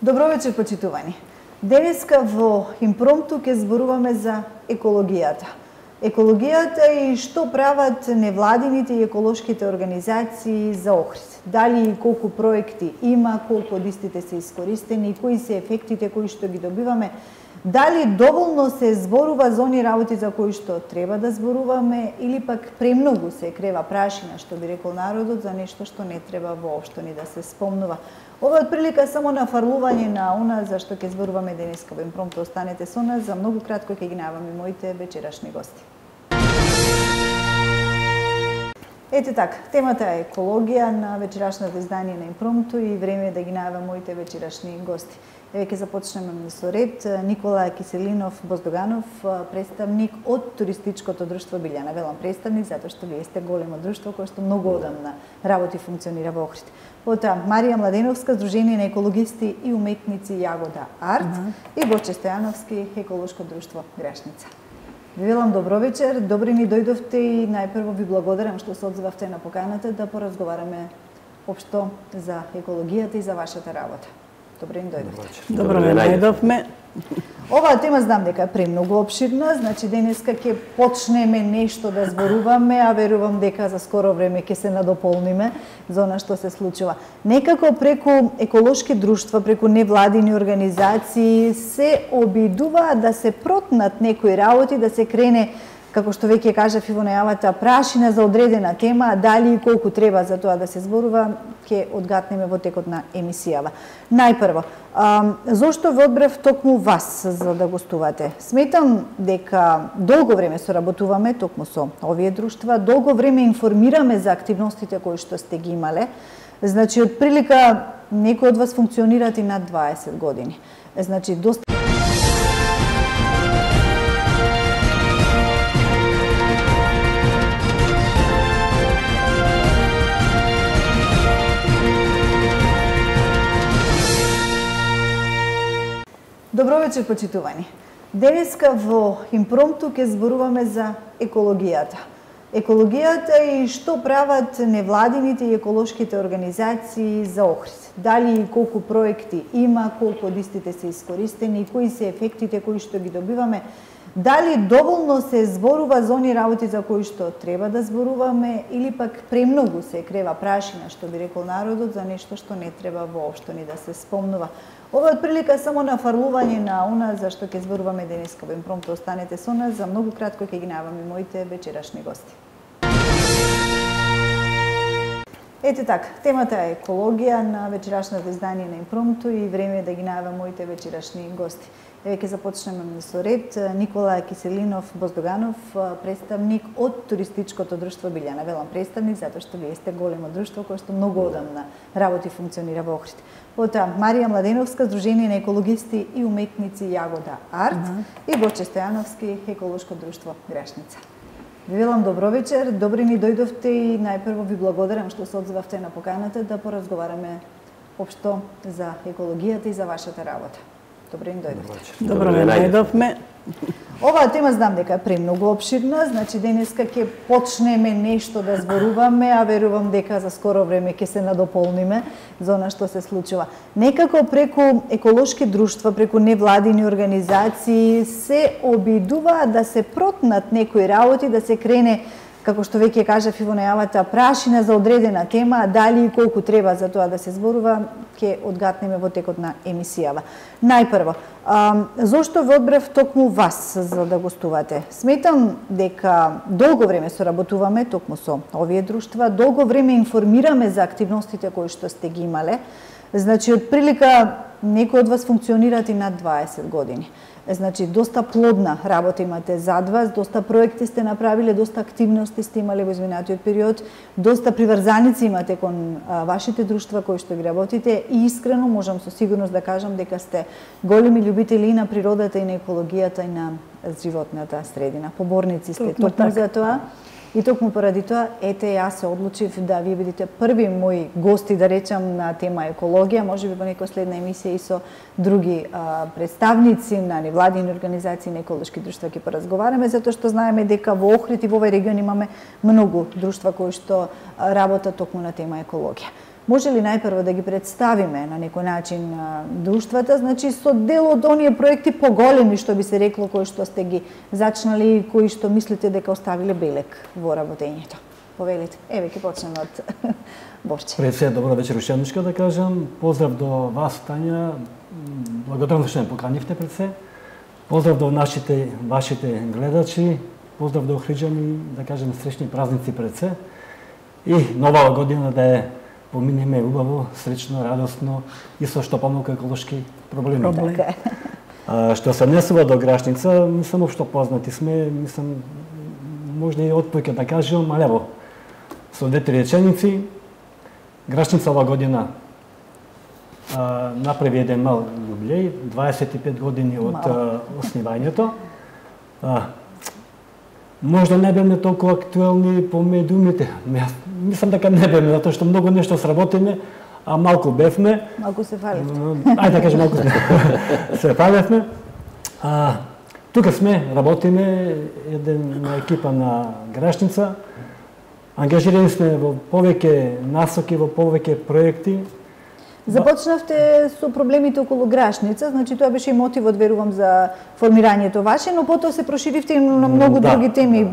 Добро вечер, почитувани. Денеска во импромту ќе зборуваме за екологијата. Екологијата и што прават невладините и еколошките организации за Охрид. Дали и колку проекти има, колку од истите се искористени, кои се ефектите кои што ги добиваме, дали доволно се зборува за они работи за кои што треба да зборуваме или пак премногу се крева прашина, што би рекол народот, за нешто што не треба воопшто ни да се спомнува. Ова е прилика само на фарлување на она за што ќе зборуваме денеска во импромту. Останете со нас, за многу кратко ќе ги најавам и моите вечерашни гости. Ете така, темата е екологија на вечерашното издание на импромту и време е да ги најавам моите вечерашни гости. Еве ќе започнеме со ред. Никола Киселинов Боздоганов, представник од туристичкото друштво Билјана. Велам представник затоа што вие сте големо друштво кое што многу одамна работи функционира во Охрид. Потоа Марија Младеновска, Сдружение на екологисти и уметници Јагода Арт и Боче Стојановски, еколошко друштво Грашница. Ви велам добро вечер, добри ми дојдовте и најпрво ви благодарам што се одзовавте на поканата да поразговараме општо за екологијата и за вашата работа. Добре ни дојдовте. Добро ме најдовме. Оваа тема знам дека е премногу опширна, значи денеска ќе почнеме нешто да зборуваме, а верувам дека за скоро време ќе се надополниме за она што се случува. Некако преку еколошки друштва, преку невладини организации се обидува да се протнат некои работи, да се крене, како што веќе кажав и во најавата, прашина за одредена тема, дали и колку треба за тоа да се зборува, ќе одгатнеме во текот на емисијава. Најпрво, зошто ве одбрав токму вас за да гостувате? Сметам дека долго време соработуваме токму со овие друштва, долго време информираме за активностите кои што сте ги имале. Значи, од прилика некои од вас функционират и над 20 години. Значи, доста Добро вечер, почитувани. Денеска во импромту ќе зборуваме за екологијата. Екологијата и што прават невладините и еколошките организации за Охрид. Дали и колку проекти има, колку од истите се искористени, кои се ефектите кои што ги добиваме, дали доволно се зборува за они работи за кои што треба да зборуваме или пак премногу се крева прашина, што би рекол народот, за нешто што не треба воопшто ни да се спомнува. Ова е прилика само на фарлување на она за што ќе зборуваме денеска во импромту. Останете со нас, за многу кратко ќе ги најавам и моите вечерашни гости. Ете така, темата е екологија на вечерашното издание на импромту и време е да ги најавам моите вечерашни гости. Еве ќе започнеме со ред. Никола Киселинов Боздоганов, представник од туристичкото друштво Билјана. Велам представник затоа што вие сте големо друштво кое што многу одамна работи функционира во Охрид. Потоа Марија Младеновска, Сдружение на екологисти и уметници Јагода Арт и Боче Стојановски, еколошко друштво Грашница. Ви велам добро вечер, добри ми дојдовте и најпрво ви благодарам што се одзовавте на поканата да поразговараме општо за екологијата и за вашата работа. Добре ни дојдовте. Добро ме најдовме. Оваа тема знам дека е премногу опширна, значи денеска ќе почнеме нешто да зборуваме, а верувам дека за скоро време ќе се надополниме за она што се случува. Некако преку еколошки друштва, преку невладини организации се обидува да се протнат некои работи, да се крене, како што веќе кажав и во најавата, прашина за одредена тема, дали и колку треба за тоа да се зборува, ќе одгатнеме во текот на емисијава. Најпрво, зошто ве одбрав токму вас за да гостувате? Сметам дека долго време соработуваме токму со овие друштва, долго време информираме за активностите кои што сте ги имале. Значи, од прилика некои од вас функционират и над 20 години. Значи, доста плодна работа имате зад вас, доста проекти сте направиле, доста активности сте имале во изминатиот период, доста приврзаници имате кон вашите друштва кои што ги работите и искрено можам со сигурност да кажам дека сте големи љубители и на природата, и на екологијата, и на животната средина. Поборници сте токму за тоа. И токму поради тоа, ете, јас се одлучив да вие бидете први мои гости, да речам, на тема екологија, можеби во некоја следна емисија и со други представници на невладини организации на еколошки друштва ќе поразговараме, затоа што знаеме дека во Охрид и во овој регион имаме многу друштва кои што работат токму на тема екологија. Може ли најпрво да ги представиме на некој начин друштвата, значи со дел од оние проекти поголеми, што би се рекло, кои што сте ги зачнали и кои што мислите дека оставиле белег во работењето? Повелите. Еве, ќе почнеме од Борче. Пред се, добро вечер ушедничка да кажам. Поздрав до вас, Тања. Благодарам што ме поканивте пред се. Поздрав до вашите гледачи. Поздрав до Охриджани, да кажем среќни празници пред се. И нова година да е поминеме убаво, среќно, радосно и со што помалку еколошки проблеми. Што се однесува до Грашница, мислам општо познати сме, мислам можда и отпојка да кажам, але ево, со две-три реченици, Грашница ова година направи еден мал јубилеј, 25 години од оснивањето. Можда не беме толку актуелни по медиумите. Мислам дека не беме, затоа што многу нешто сработиме, а малку бевме. Малку се фалевте. Ајде да кажем, малку се фалевме. Тука сме, работиме, една екипа на Грашница. Ангажирани сме во повеќе насоки, во повеќе проекти. Започнавте со проблемите околу Грашница, значи тоа беше и мотивот, верувам, за формирањето ваше, но потоа се проширивте и на многу други теми,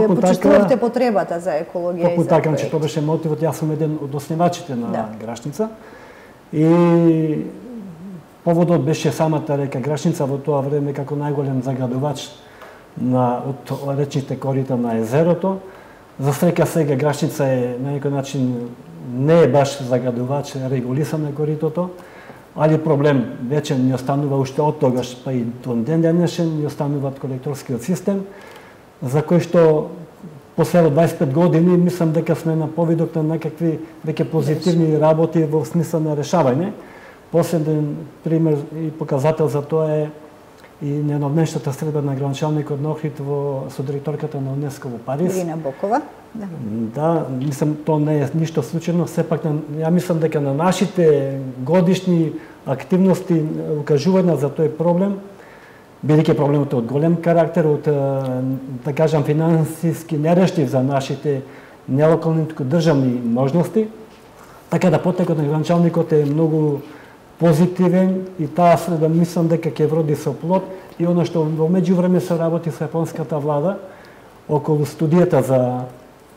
почувствувавте потребата за екологија и за така, значи тоа беше мотивот, јас сум еден од основачите на Грашница. И поводот беше самата река Грашница во тоа време како најголем загадувач од речните корита на езерото. За среќа сега Грашница е на некој начин не е баш загадувач, регулисано коритото, али проблем веќе ни останува уште од тогаш, па и до ден денешен ни остануваат колекторскиот систем, за кој што после 25 години мислам дека сме на повидок на некакви веќе позитивни работи во смисла на решавање. Последен пример и показател за тоа е и неновнешната средба на градоначалникот на Охрид со директорката на УНЕСКО во Париз. Ирина Бокова. Да, мислам, тоа не е ништо случајно, сепак ја мислам дека на нашите годишни активности укажувања за тој проблем, бидејќи проблемот е од голем карактер, од, да кажам, финансиски нерештив за нашите нелокални државни можности, така да потекот на градоначалникот е многу позитивен и таа среда мислам дека ќе вроди со плод и она што во меѓувреме се работи со јапонската влада околу студијата за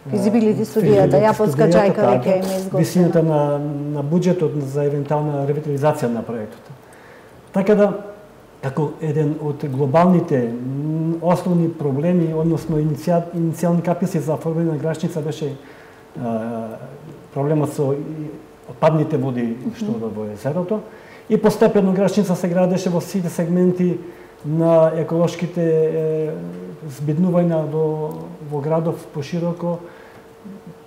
Физибилити студијата, јапонска чајка веќе има изготвена. Висината на буџетот за евентуална ревитализација на проектот. Така да, како еден од глобалните основни проблеми, односно иницијални каписи за формирање на Грашница беше проблемот со отпадните води што во езерото и постепено Грашница се градеше во сите сегменти на еколошките збиднувања во градов пошироко,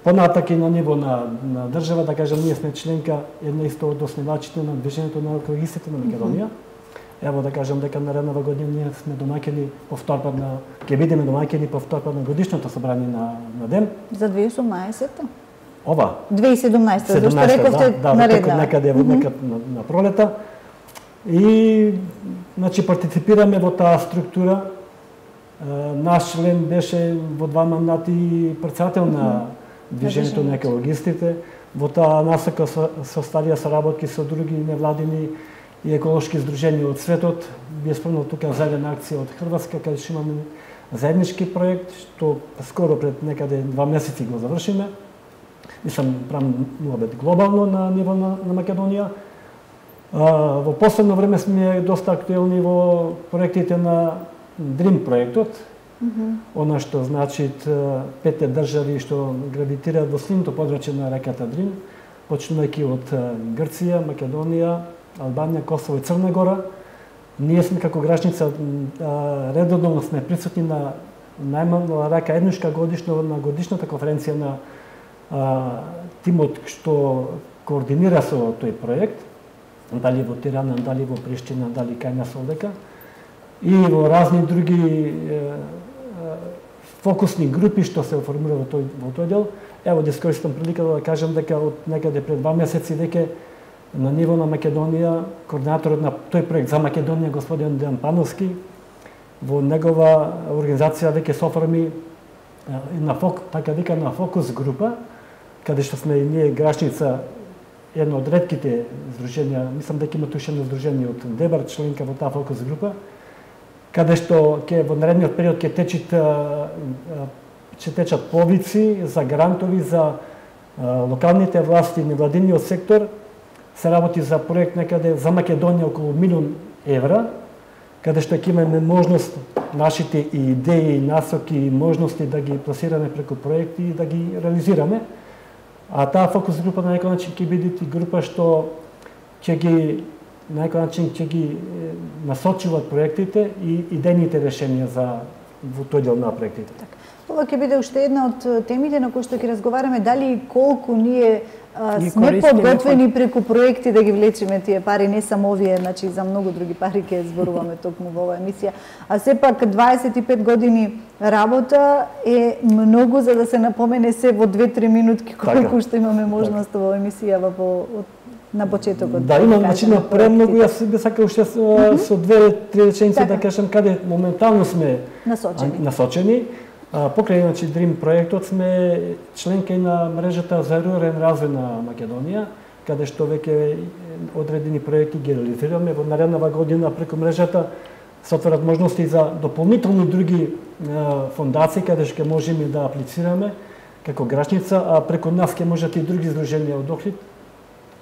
понатак и на ниво на држава, да кажем, ние сме членка една исто од основачите на движењето на екологистите на Македонија. Ево да кажем дека нареднава година ние сме домаќини повторпат ќе бидеме домаќини повторпат на годишното собрание на ДЕМ. За 2018-та? Ова. 2017-та, зашто рековте наредна. Некаде на пролета. И значи партиципираме во таа структура. Наш член беше во 2 мандати председател на движењето на екологистите. Во таа насока составија соработки со други невладини и еколошки здруженија од светот. Би спомнал тука заедна акција од Хрватска, каде што имаме заеднички проект, што скоро пред некаде 2 месеци го завршиме. Мислам, правам глобално на ниво на Македонија. Во последно време сме доста актуелни во проектите на Дрим проектот, она што значи 5 држави што гравитираат во сливното подрачје на реката Дрим, почнувајќи од Грција, Македонија, Албанија, Косово и Црна Гора. Ние сме како Грашница редовно сме присутни на најмалку рака еднушка годишно на годишната конференција на тимот што координира со тој проект, дали во Тирана, дали во Приштина, дали кај нас овдека, и во разни други фокусни групи што се формира во тој дел. Ево да искористам приликата да кажам дека од некаде пред 2 месеци веќе на ниво на Македонија, координаторот на тој проект за Македонија, господин Дејан Пановски, во негова организација веќе се оформи така викана фокус група, каде што сме и ние Грашница едно од ретките здруженија, мислам дека има туше едно здружение од Дебар, членка во таа фокус група, каде што во наредниот период ќе течат повици за грантови за локалните власти и невладиниот сектор. Се работи за проект некаде за Македонија околу 1 милион евра, каде што ќе имаме можност нашите идеи, насоки и можности да ги пласираме преку проекти и да ги реализираме. А таа фокус група на некој начин ќе биде група што ќе ги на некој начин ќе ги насочуваат проектите и идејните решенија за во тој дел на проектите. Ова ќе биде уште една од темите на кои што ќе разговараме, дали и колку ние сме подготвени преку проекти да ги влечеме тие пари, не само овие, значи за многу други пари ќе зборуваме токму во оваа емисија. А сепак 25 години работа е многу за да се напомене се во 2-3 минутки колку што имаме можност во емисија на почетокот. Да, имам начина премногу, јас би сакал уште со 2-3 реченици да кажам каде моментално сме насочени. Покрај иначе Dream проектот сме членка и на мрежата за рурален развој на Македонија, каде што веќе одредени проекти ги реализираме. Во наредната година преку мрежата се отворат можности за дополнителни други фондации каде што можеме да аплицираме како Грашница, а преку нас ќе можат и други здруженија од Охрид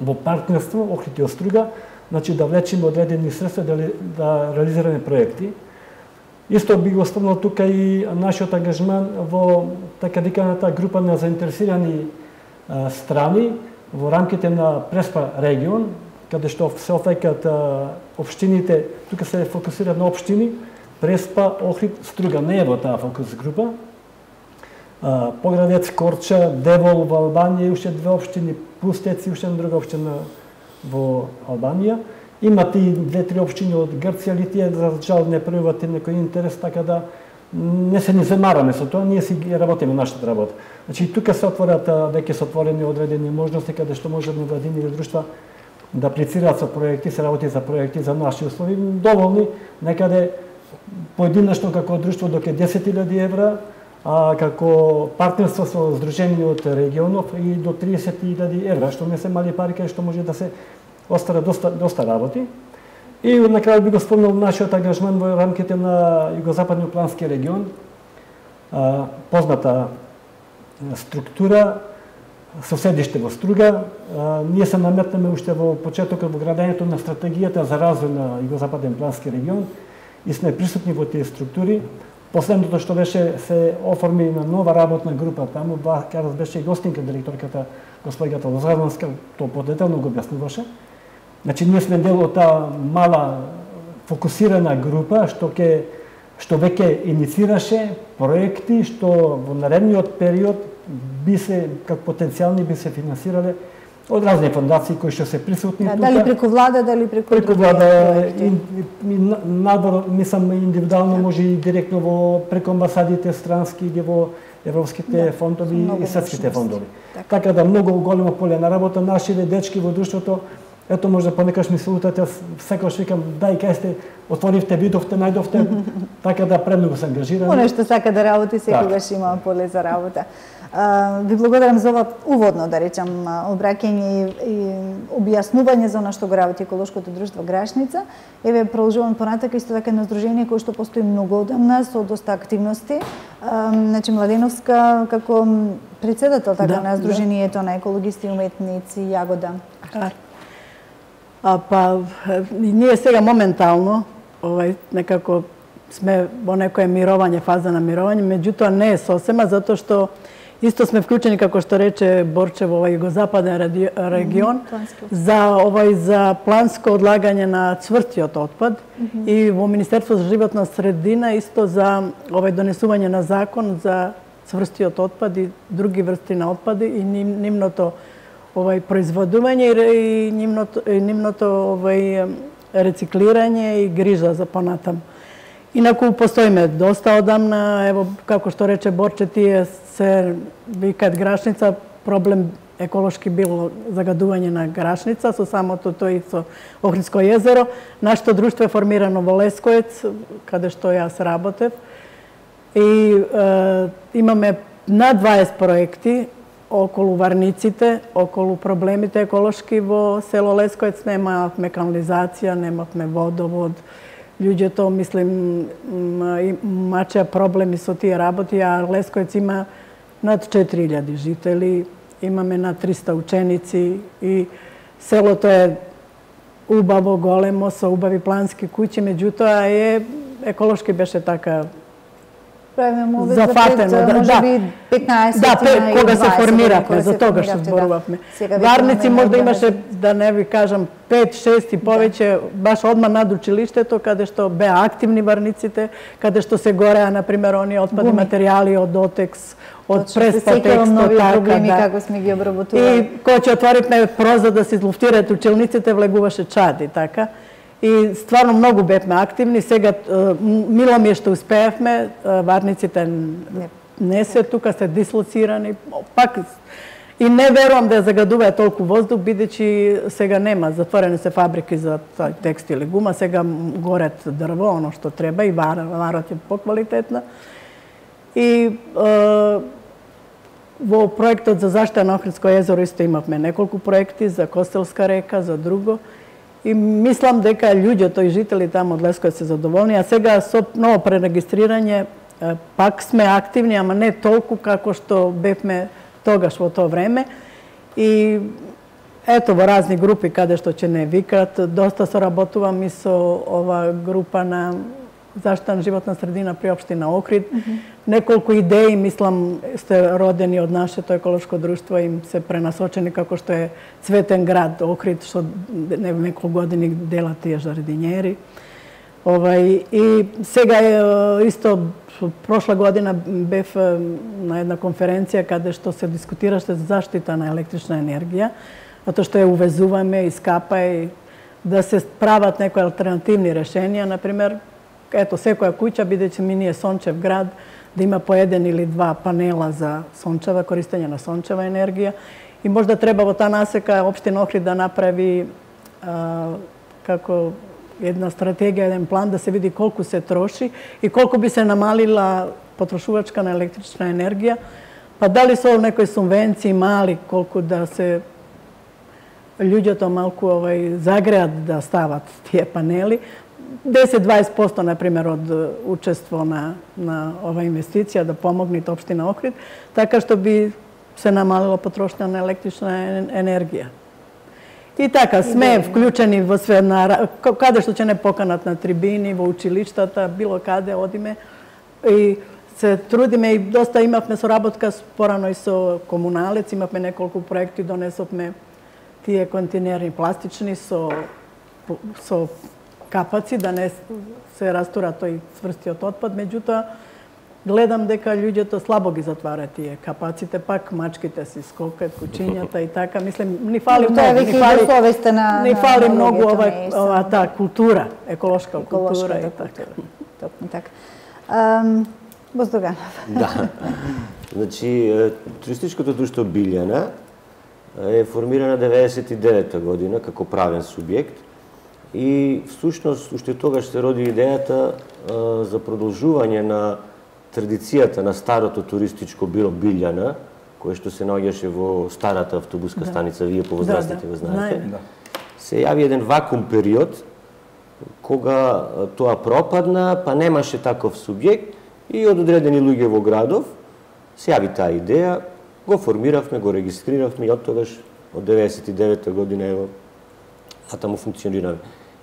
во партнерство Охрид и Оструга, значи да влечеме одредени средства да реализираме проекти. Исто би го спомнал тука и нашиот ангажман во така виканата група на заинтересирани страни во рамките на Преспа регион, каде што се офаќаат општините, тука се фокусира на општини, Преспа, Охрид, Струга, не е во таа фокус група. Поградец, Корча, Девол во Албанија и уште 2 општини, Пустец и уште една друга општина во Албанија. Имате и 2-3 општини од Грција, или тие за жал не пројавуваат некој интерес, така да не се ни замараме со тоа, ние си ги работиме нашата работа. Значи тука се отворат, веќе се отворени одредени можности каде што можат невладини друштва да аплицираат со проекти, се работи за проекти за наши услови, доволни, некаде поединачно како друштво до 10.000 евра, а како партнерство со здружени од регионов и до 30.000 евра, што не се мали пари, каде што може да се остара доста работи. И на крај би го спомнал нашиот ангажман во рамките на Југозападниот плански регион, позната структура, соседиште во Струга. Ние се наметнаме уште во почетокот во градењето на стратегијата за развој на Југозападен плански регион и сме присутни во тие структури. Последното што беше се оформи на нова работна група таму, каде беше и гостинка директорката господјата Лозаранска, тоа подетелно го објаснуваше. Значи ние сме дел од таа мала фокусирана група што веќе иницираше проекти што во наредниот период би се како потенцијални би се финансирале од разни фондации кои што се присутни тука. Дали преку влада, дали преку влада, надвор, мислам индивидуално може и директно во преку амбасадите странски или во европските фондови и светските фондови. Така да многу големо поле на работа, нашите дечки во друштвото. Ето може понекаш ми се лутате, секогаш викам, дај кај сте, отворивте, видовте, најдовте, така да премногу се ангажираме. Оно што сака да работи, секогаш има поле за работа. Ви благодарам за ова уводно, да речам, обраќање и објаснување за она што го работи еколошкото друштво Грашница. Еве продолжувам понатака исто така едно здружение кое што постои многу одамна со доста активности. Значи Младеновска како претседател така на здружението на екологисти и уметници Јагода. Ние сега моментално некако сме во некоја мировање, фаза на мировање, меѓутоа не е сосема, затоа што исто сме вклучени, како што рече Борче, во овој југозападен регион, за планско одлагање на цврстиот отпад и во Министерство за животна средина исто за донесување на закон за цврстиот отпад и други врсти на отпади и нивното производување и нивното рециклирање и грижа за понатам. Инаку постоиме доста одамна, ево како што рече Борче, тие се викаат Грашница, проблем еколошки било загадување на Грашница со самото тој и со Охридско езеро. Нашето друштво е формирано во Лесковец, каде што јас работев. И имаме над 20 проекти околу варниците, околу проблемите еколошки во село Лесковец. Немавме канализација, немавме водовод. Луѓето, мислим, имачеа проблеми со тие работи, а Лесковец има над 4000 жители, имаме над 300 ученици и селото е убаво, големо, со убави плански куќи, меѓутоа еколошки беше така зафатено. Може би 15 да, кога се формиравме, за тога што зборувавме. Варници можда имаше, да не ви кажам, 5-6 и повеќе, баш одма над училиштето, каде што беа активни варниците, каде што се гореа, например, оние отпадни материјали од Отекс, од Преспатекс, нови проблеми како сме ги обработували. И кога ќе отворивме прозор да се излуфтираат училниците, влегуваше чад и така. И стварно многу бевме активни. Сега мило ми е што успеевме, варниците не се тука, се дислоцирани. Пак и не верувам да ја загадуваат толку воздух, бидејќи сега нема, затворени се фабрики за текстил и гума, сега горат дрво, оно што треба и варот е поквалитетна. И во проектот за заштита на Охридско езеро исто имавме неколку проекти за Костелска река, за друго. И мислам дека луѓето и жители таму од Лесковец се задоволни, а сега со ново пререгистрирање пак сме активни, ама не толку како што бевме тогаш во тоа време. И ето во разни групи каде што ќе не викат, доста соработувам и со ова група на заштита на животна средина при општина Охрид. Неколку идеи, мислам, сте родени од нашето еколошко друштво, им се пренасочени како што е Цветен град Охрид, што неколку години делат тие жардинјери. И сега исто прошла година бев на една конференција каде што се дискутираше за заштита на електрична енергија, затоа што ја увезуваме, искапа и да се прават некои алтернативни решенија, например, ето секоја куќа, бидејќи ми ние сончев град, да има по 1 или 2 панела за сончева, користење на сончева енергија. И можда треба во таа насека општина Охрид да направи како една стратегија, еден план да се види колку се троши и колку би се намалила потрошувачка на електрична енергија. Па дали со некои субвенции мали, колку да се луѓето малку загреат да стават тие панели. 10-20% например од учество на ова инвестиција да помогне општина Охрид, така што би се намалила потрошња на електрична енергија. И така сме вклучени во све, каде што ќе не поканат на трибини, во училиштата, било каде одиме и се трудиме и доста имавме соработка порано и со комуналец, имавме неколку проекти, донесовме тие контейнери пластични со капаци, да не се растура тој цврстиот отпад, меѓутоа гледам дека луѓето слабо ги затварат тие капаците, пак мачките си скокат, кучињата и така, мислам, ни фали многу, ни фали многу ова таа култура, еколошка култура и така. Точно така. Боздоганов. Да. Значи, туристичкото друштво Билјана е формирана 99-та година како правен субјект и всушност уште тогаш се роди идејата за продолжување на традицијата на старото туристичко биро Билјана, кое што се наоѓаше во старата автобуска станица, вие повозрастните го знаете. Се јави еден вакуум период кога тоа пропадна, па немаше таков субјект и од одредени луѓе во градов се јави таа идеја, го формиравме, го регистриравме и од тогаш, од 99-та година, ево, таму функционираме.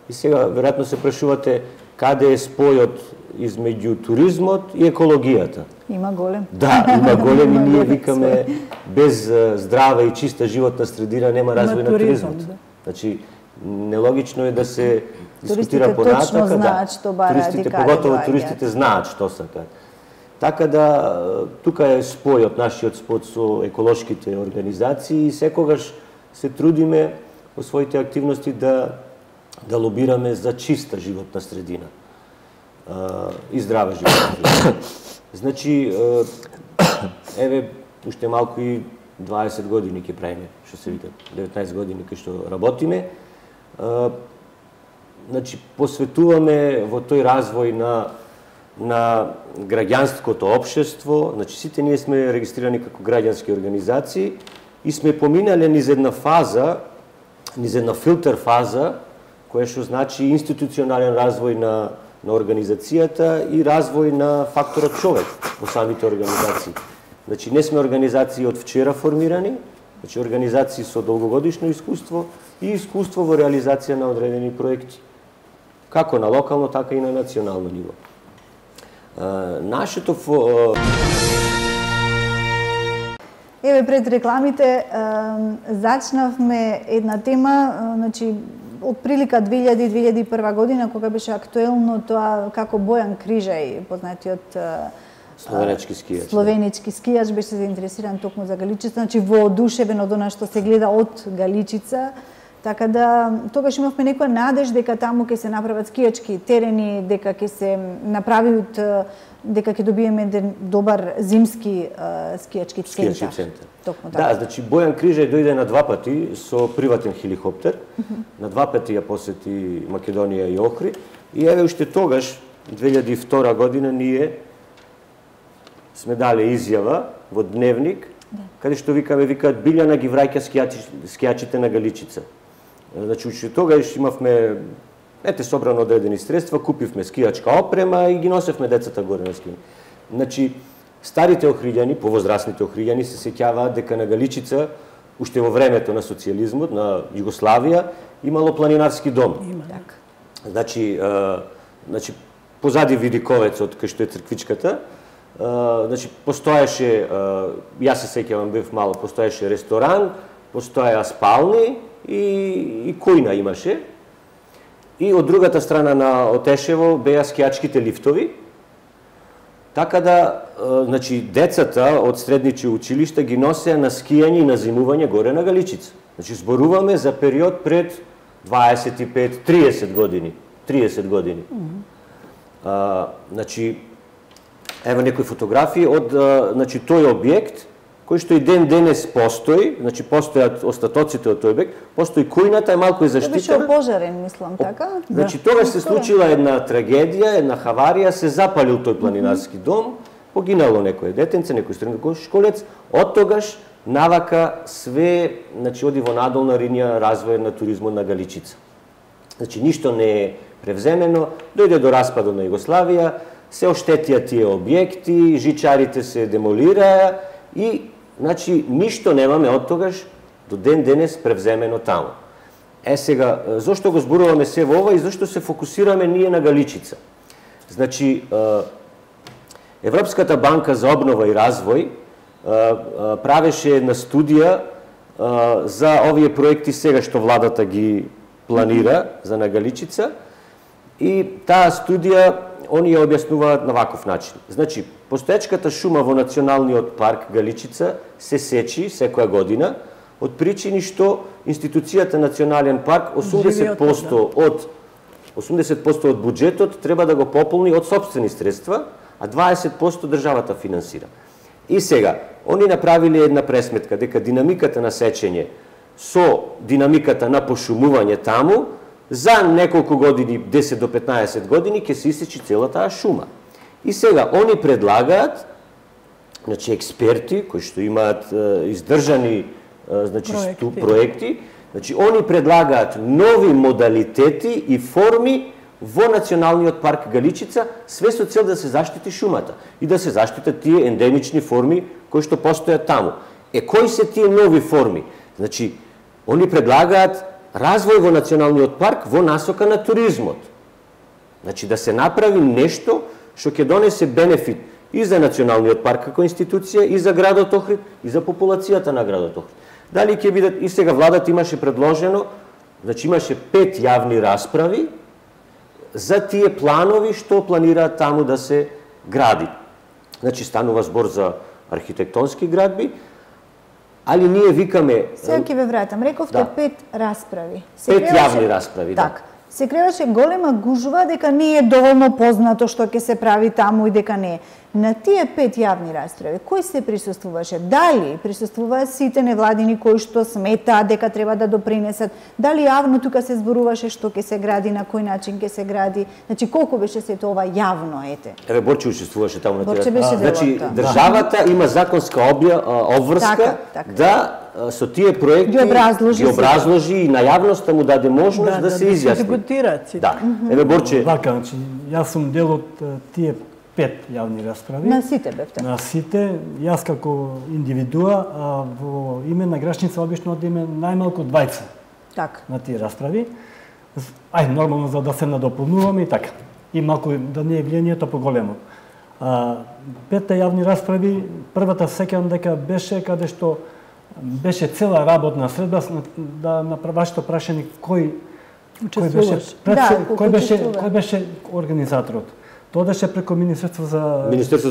И сега, веројатно се прашувате, каде е спојот измеѓу туризмот и екологијата? Има голем. Да, има голем и ние викаме, без здрава и чиста животна средина нема развој на туризмот. Значи, нелогично е да се дискутира понатака. Туристите точно знаат што бараат и каде поготово туристите знаат што сакаат. Така да, тука е спојот, нашиот спој со еколошките организации и секогаш се трудиме во своите активности да лобираме за чиста животна средина и здрава животна средина. Значи, еве, уште малку и 20 години ќе правиме, што се вика, 19 години кај што работиме. Значи, посветуваме во тој развој на на граѓанското општество, значи сите ние сме регистрирани како граѓански организации и сме поминале низ една фаза, низ една филтер фаза, која што значи институционален развој на организацијата и развој на факторот човек во самите организации. Значи не сме организации од вчера формирани, значи организации со долгогодишно искуство и искуство во реализација на одредени проекти, како на локално, така и на национално ниво. Нашето Еве пред рекламите зачнавме една тема, значи од прилика 2000-2001 година кога беше актуелно тоа како Бојан Крижај, познатиот словенички скијач беше заинтересиран токму за Галичица, значи воодушевен од она што се гледа од Галичица. Така да тогаш имавме некоја надеж дека таму ќе се направат скијачки терени, дека ќе се направиат, дека ќе добиеме еден добар зимски скијачки центар. Токму така. Да, значи Бојан Крижај дојде на 2 пати со приватен хеликоптер. На 2 пати ја посети Македонија и Охрид. И еве уште тогаш 2002 година ние сме дале изјава во Дневник, каде што викаат Билјана ги враќа скијачите на Галичица. Значи, уште тогаш имавме, собрано одредени средства, купивме скијачка опрема и ги носевме децата горе на скијање. Значи, старите охриѓани, повозрастните охриѓани се сеќаваат дека на Галичица, уште во времето на социјализмот, на Југославија, имало планинарски дом. Значи, позади Видиковецот, кај што е црквичката, значи, постоеше, јас се сеќавам, бев мало, постоеше ресторан, постоеа спални и којна имаше. И од другата страна на Отешево беа скијачките лифтови. Така да, значи, децата од средничи училишта ги носеа на скијање и на зимување горе на Галичица. Значи, зборуваме за период пред 25-30 години. 30 години. Значи, ево некои фотографии од значи тој објект кој што и ден денес постои, значи постојат остатоците од тој објект, постои којната, е малку заштитена. Беше опожарен, мислам, така? Значи тогаш се случила една трагедија, една хаварија, се запалил тој планинарски дом, погинало некој детенце, некој средношколец, од тогаш навака све, значи оди во надолна линија развој на туризмот на Галичица. Значи ништо не е превземено, дојде до распадот на Југославија, се оштетија тие објекти, жичарите се демолираа и значи ништо немаме од тогаш до ден денес превземено таму. Сега, зошто го зборуваме се во ова и зошто се фокусираме ние на Галичица? Значи, Европската банка за обнова и развој правеше една студија за овие проекти сега што владата ги планира за на Галичица и таа студија они ја објаснуваат на ваков начин. Значи, постоечката шума во Националниот парк Галичица се сечи секоја година од причини што институцијата Национален парк 80% од буџетот треба да го пополни од сопствени средства, а 20% државата финансира. И сега, они направиле една пресметка дека динамиката на сечење со динамиката на пошумување таму за неколку години, 10 до 15 години, ќе се исечи цела таа шума. И сега, они предлагаат, значи, експерти, кои што имаат издржани значи, проекти, значи, они предлагаат нови модалитети и форми во Националниот парк Галичица, све со цел да се заштити шумата и да се заштитат тие ендемични форми кои што постојат таму. Кои се тие нови форми? Значи, они предлагаат развој во Националниот парк во насока на туризмот. Значи, да се направи нешто што ќе донесе бенефит и за Националниот парк како институција, и за градот Охрид, и за популацијата на градот Охрид. Дали ќе бидат, и сега владата имаше предложено, значи имаше 5 јавни расправи за тие планови што планираат таму да се гради. Значи, станува збор за архитектонски градби, али ние викаме... Сега ќе ве вратам, рековте 5 расправи. 5 јавни расправи, да. Се креаше голема гужва дека не е доволно познато што ќе се прави таму и дека не е. На тие 5 јавни расправи, кој се присуствуваше? Дали присуствуваат сите невладини кои што сметаат дека треба да допринесат? Дали јавно тука се зборуваше што ќе се гради, на кој начин ќе се гради? Значи колку беше сето ова јавно, ете? Еве Борче учествуваше таму на Борче беше дел од Значи тоа. државата има законска обврска Така. да со тие проекти Ги образложи и на јавноста му даде можност да се изјасни. дискутираат сите. Да. Еве Борче, Вака, значи, јас сум дел од тие 5 јавни расправи. На сите бевте. На сите, јас како индивидуа, а во име на Грачница обично одиме најмалку 20 Така. на тие расправи. Ај, нормално за да се надополнуваме и така. И малку да не е влијанието поголемо. 5 јавни расправи, првата сеќавам дека беше каде што беше цела работна средба да на вашето прашање кој беше кој беше организаторот. Тоа беше преку Министерство за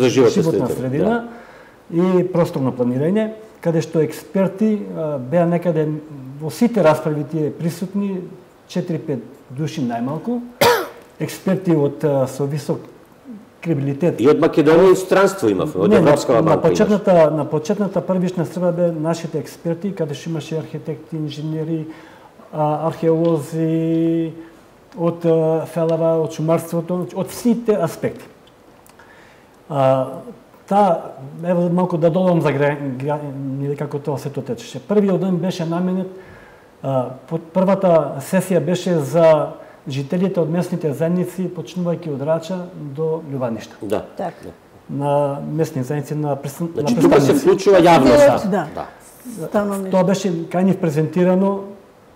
животна средина и просторно планирање, каде што експерти беа некаде во сите расправи тие присутни 4-5 души најмалку, експерти од со висок кредибилитет. И од Македонија и странство имавме, од Европската банка имаше. На почетната првична среда бе нашите експерти, каде што имаше архитекти, инженери, археолози, од ФЛВ, од шумарството, од сите аспекти. Ево малку да додам за како тоа се течеше. Првиот ден беше наменет, првата сесија беше за жителите од местните заедници, почнувајќи од Рача до Љубаништа. Да. Така. На местни заедници на Значи тука се вклучува јавноста. Да. Тоа беше кај нив презентирано,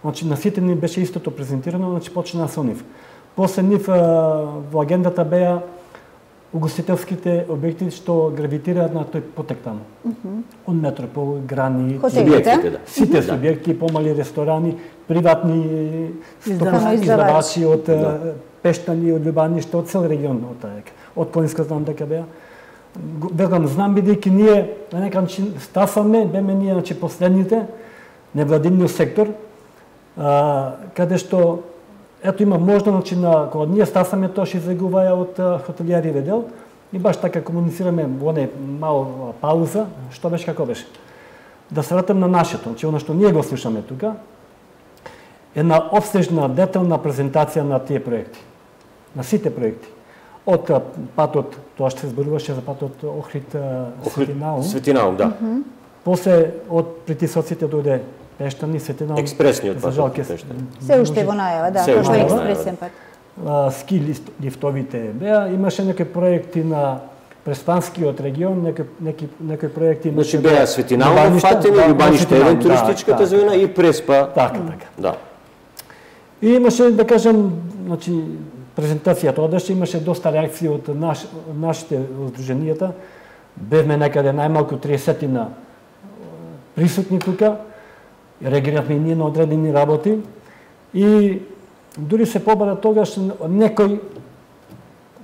значи на сите ни беше истото презентирано, значи почна со нив. После нив во агендата беа угостителските објекти што гравитираат на тој потек таму. Од метропол, грани, сите субјекти, помали ресторани, приватни издавачи од Пештани, од Љубаниште, од цел регион, од Планинска знам дека беа. Знам бидејќи ние на некој начин стафаме, беме ние значи последните невладиниот сектор, каде што ето има можда, значи, кога ние стасаме, тоа ще излегуваја од хотелијари ведел и баш така комуницираме во оне мал пауза, што беше како беше. Да се вратам на нашето, значи, оно што ние го слушаме тука, една обстежна, детална презентација на тие проекти, на сите проекти. Од патот, тоа што се зборуваше за патот Охрид-Светинаум, да. После од притисоците дојде Пештани, Светинаум. Експресниот пат. Се уште во најава, да, како експресен пат. Ски лифтовите беа, имаше некои проекти на Преспанскиот регион, некои проекти имаше. Значи беа Светинаум фатени, Љубаниште еден туристичката зона и Преспа. Така. Да. И имаше, да кажем, значи презентацијата одеше, имаше доста реакции од нашите здруженијата. Бевме некаде најмалку 30 присутни тука. Реагиравме и ние на одредени работи и дури се побара тогаш некој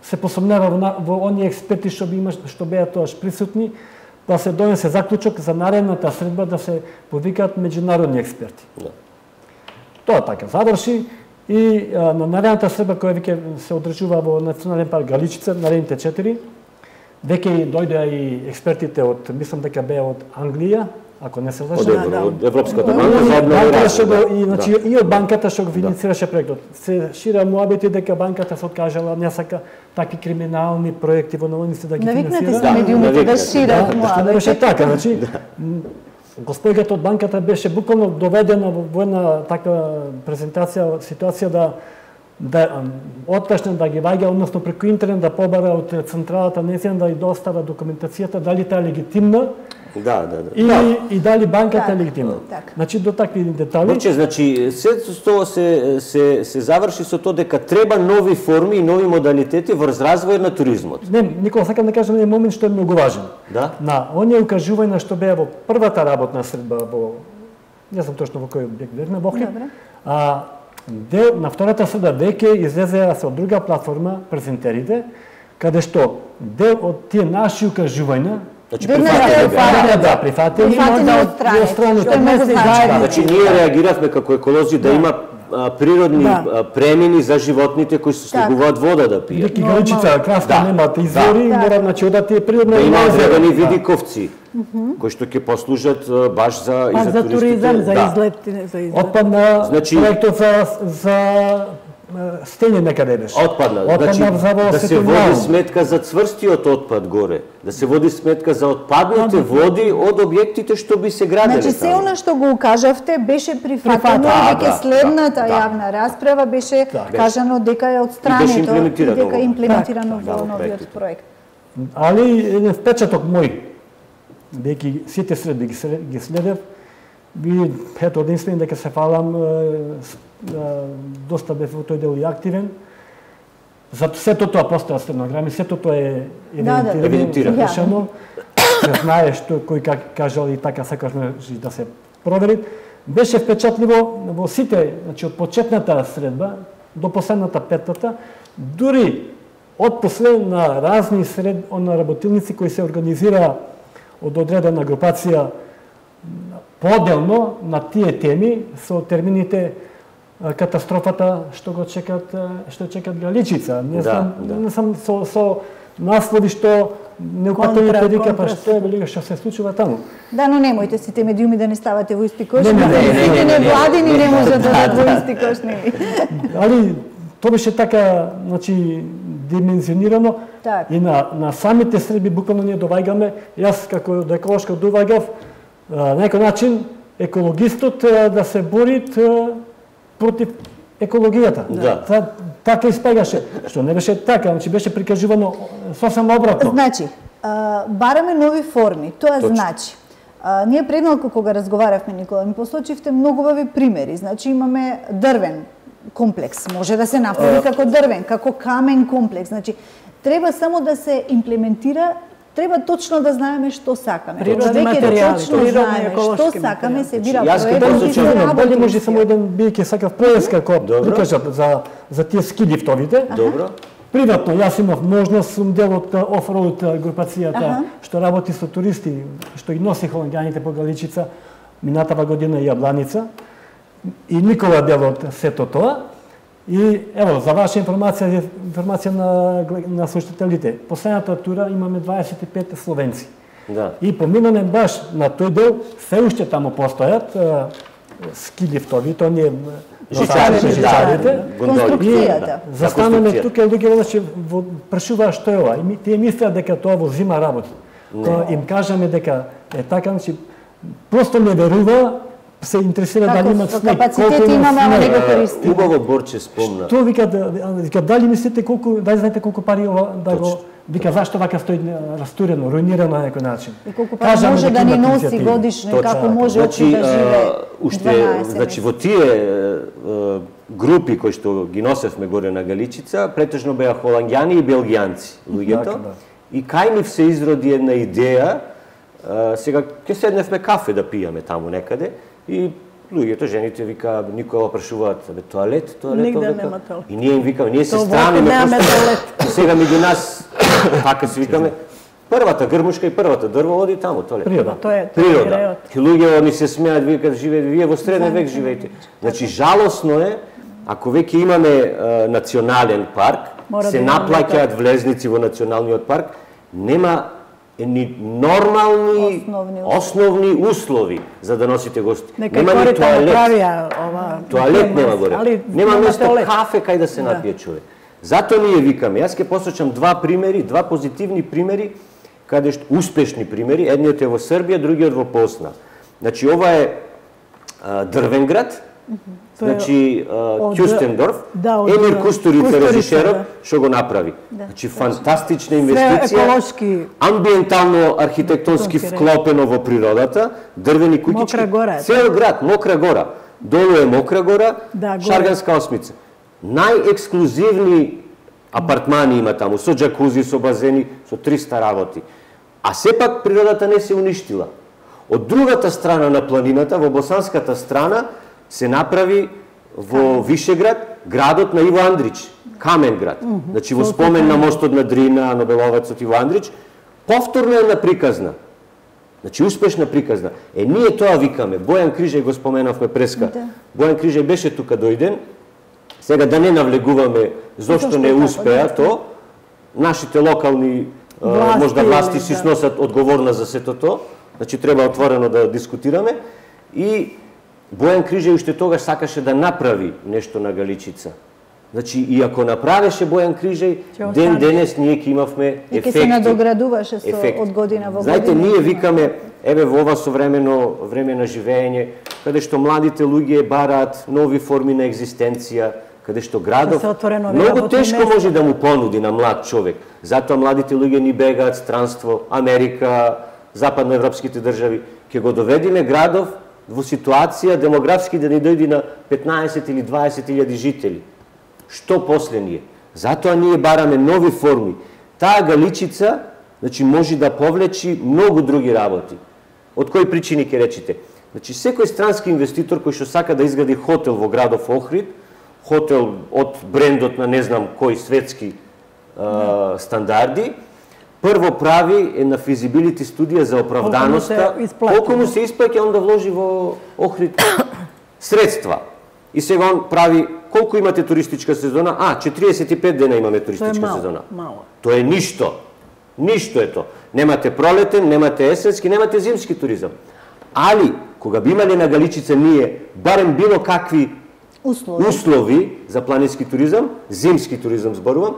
се посомнева во оние експерти што беа тоаш присутни, да се донесе заклучок за наредната средба да се повикаат меѓународни експерти. Да. Тоа така заврши и на наредната средба која веќе се одржува во Национален парк Галичица, наредните 4, веќе дојдоа и експертите од, мислам дека беа од Англија, ако не се лажам. Од Европската банка за обнови и од банката што го финансираше проектот. Се шира муабети дека банката се откажала, не сака такви криминални проекти во новините да ги финансира. Навикнати се медиумите да шират муабети. Што не беше така, значи господјата од банката беше буквално доведена во една таква презентација, ситуација да отпочне да ги ваѓа, односно преку интернет да побара од централата незина да ја достава документацијата, дали таа е легитимна. Да. И дали банката е легитимна. Значи до такви детали. Значи, се тоа се заврши со тоа дека треба нови форми и нови модалитети врз развој на туризмот. Не, Никола, сакам да кажам еден момент што е многу важен. Да? На оние укажувања што беа во првата работна средба во не знам точно во кој објект бевме во Охрид. На втората среда веќе излезеа со друга платформа презентерите, каде што дел од тие наши укажувања Значи прифатени од страни. Значи ние реагиравме како еколози да има природни премини за животните кои се слегуваат вода да пијат. Вики Галичица, краска немаат извори, мора значи одат е природна дрвени видиковци кои што ќе послужат баш за туризам, за излет. Отпадна проектот за стење некаде беше. Отпадна. Значи, да се води сметка за цврстиот отпад горе, да се води сметка за отпадните води од објектите што би се градели. Значи, се она што го кажавте беше прифатено, дека следната јавна расправа беше кажано дека е отстрането и дека е имплементирано во новиот проект. Али еден впечаток мој, дека сите средби ги следев, би ето единствено дека се фалам, доста бев во тој дел и активен. Зато сето тоа постоја стенограми, сето тоа е евидентирано. Се знае што кој как кажал и така сакашме да се провери. Беше впечатливо во сите, значи од почетната средба до последната петата, дури од после на разни на работилници кои се организира од одредена групација поделно на тие теми со термините катастрофата што чекат Галичица. Не сам со наслови што не упатувате дека па што е велика што се случува таму. Да, но немојте сите медиуми да не ставате во исти кош, сите невладини не можат да дадат во исти кош, Али тоа беше така, значи димензионирано и на самите средби буквално ние доваѓаме, јас како еколошка доваѓав на некој начин екологистот да се бори против екологијата. Така испегаше, што не беше така, значи беше прикажувано сосем обратно. Значи, бараме нови форми, тоа значи. Ние предмалку кога разговаравме, Никола, ми посочивте многу убави примери. Значи имаме дрвен комплекс, може да се направи како дрвен, како камен комплекс. Значи, треба само да се имплементира, треба точно да знаеме што сакаме. Природни материјали, точно знаеме што сакаме, се бира проект и се работи. Дали може само еден бијќи сакав поеска кој прикажат за тие ски лифтовите. Добро. Приватно, јас имав можност, сум дел од офроуд групацијата што работи со туристи, што ги носи холандјаните по Галичица, минатава година и Јабланица. И Никола дел од сето тоа. И ево, за ваша информација на слушателите, последната тура имаме 25 словенци. И поминаме баш на тој дел, се уште таму постојат ски лифтови, тоа не е жичарите, конструкцијата. Застанаме тука и луѓе значи прашуваат што е ова. И тие мислат дека тоа во зима работи. Кога им кажаме дека е така, значи просто не верува, се интересира дали имат снег, капацитет имаме, ама не го користиме. Убаво Борче спомна. Тоа вика дали мислите дали знаете колку пари ова да го вика зашто вака стои растурено, руинирано на некој начин. И колку пари може да ни носи годишно, како може да живее. Уште, значи во тие групи кои што ги носевме горе на Галичица, претежно беа холандјани и белгијанци луѓето. И кај нив се изроди една идеја, сега ќе седневме кафе да пијаме таму некаде и луѓето, жените вика, Никола прашуваат, тоалет, нигде нема тоалет. И ние им викаме, ние се страниме просто. И сега меѓу нас така се викаме, првата грмушка и првата дрво оди таму, тоалет. Природа. И луѓе ни се смеат, викаат, живеете, вие во среден век живеете. Значи жалосно е ако веќе имаме национален парк, се наплаќаат влезници во националниот парк, нема ни нормални основни услови за да носите гости. Нема ни тоалет. Тоалет нема горе. Нема место кафе кај да се напие човек. Зато ние викаме, јас ќе посочам два примери, два позитивни примери, каде што успешни примери, едниот е во Србија, другиот во Посна. Значи ова е дрвен град, значи Кјустендорф, Емир Кустурица режисерот што го направи. Значи фантастична инвестиција, амбиентално архитектонски вклопено во природата, дрвени куќички, цел град, Мокра гора, долу е Мокра гора, Шарганска осмица. Најексклузивни апартмани има таму, со џакузи, со базени, со 300 работи. А сепак природата не се уништила. Од другата страна на планината, во босанската страна, се направи во Вишеград градот на Иво Андрич, камен град. Значи во спомен на мостот на Дрина, Нобеловецот Иво Андрич, повторно е наприказна. Значи, успешна приказна. Ние тоа викаме. Бојан Крижај го споменавме преска. Бојан Крижај беше тука дојден. Сега да не навлегуваме зошто не успеа то, нашите локални можда власти си сносат одговорна за сето то. Значи, треба отворено да дискутираме. И Бојан Крижај уште тогаш сакаше да направи нешто на Галичица. Значи, и ако направеше Бојан Крижај, ден денес ние ќе имавме ефекти. И ќе се надоградуваше од година во година. Знаете, ние викаме, еве во ова современо време на живење, каде што младите луѓе бараат нови форми на екзистенција, каде што градов многу тешко може да му понуди на млад човек. Затоа младите луѓе ни бегаат странство, Америка, западноевропските држави. Ќе го доведиме градов во ситуација демографски да ни дојди на 15 или 20 илјади жители. Што после ние? Затоа ние бараме нови форми. Таа Галичица, значи, може да повлечи многу други работи. Од кои причини ќе речите? Значи, секој странски инвеститор кој што сака да изгради хотел во градов Охрид, хотел од брендот на не знам кои светски стандарди, прво прави една физибилити студија за оправданоста, колку му се исплаќа он да вложи во Охрид средства. И сега он прави, колку имате туристичка сезона? 45 дена имаме туристичка сезона. Тоа е ништо. Ништо е тоа. Немате пролетен, немате есенски, немате зимски туризам. Али, кога би имале на Галичица ние, барем било какви услови за планински туризам, зимски туризам зборувам,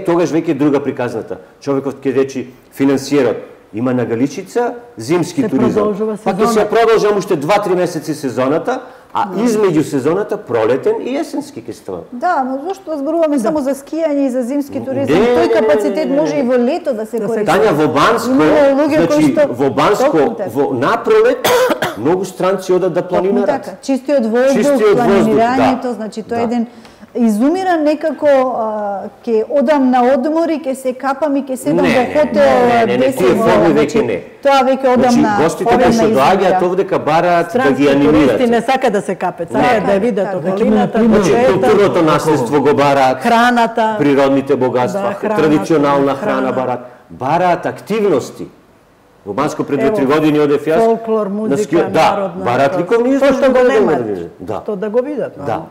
тогаш веќе друга приказната. Човекот ќе речи, финансиерот, има на Галичица зимски туризам. Па ќе се продолжам уште 2-3 месеци сезоната, а измеѓу сезоната пролетен и есенски ќе става. Да, но зашто зборуваме само за скијање и за зимски туризам? Тој капацитет може и во лето да се користи. Тања, во Банско, во напролет, многу странци одат да планинарат. Чистиот воздух, планирањето, значи тоа е еден изумира некако ќе одам на одмор и ќе се капам и ќе седам во хотел 10 години. Тоа веќе одам на гостите кои што доаѓаат овдека бараат да ги анимираат. Туристи не сака да се капат, сака да видат околината, културното наследство го бараат, храната, природните богатства, традиционална храна бараат, бараат активности. Во Банско пред 2-3 години одев јас. Фолклор, музика, народна. Бараат ликовни изложби. Што го немаат, што да го видат. Да.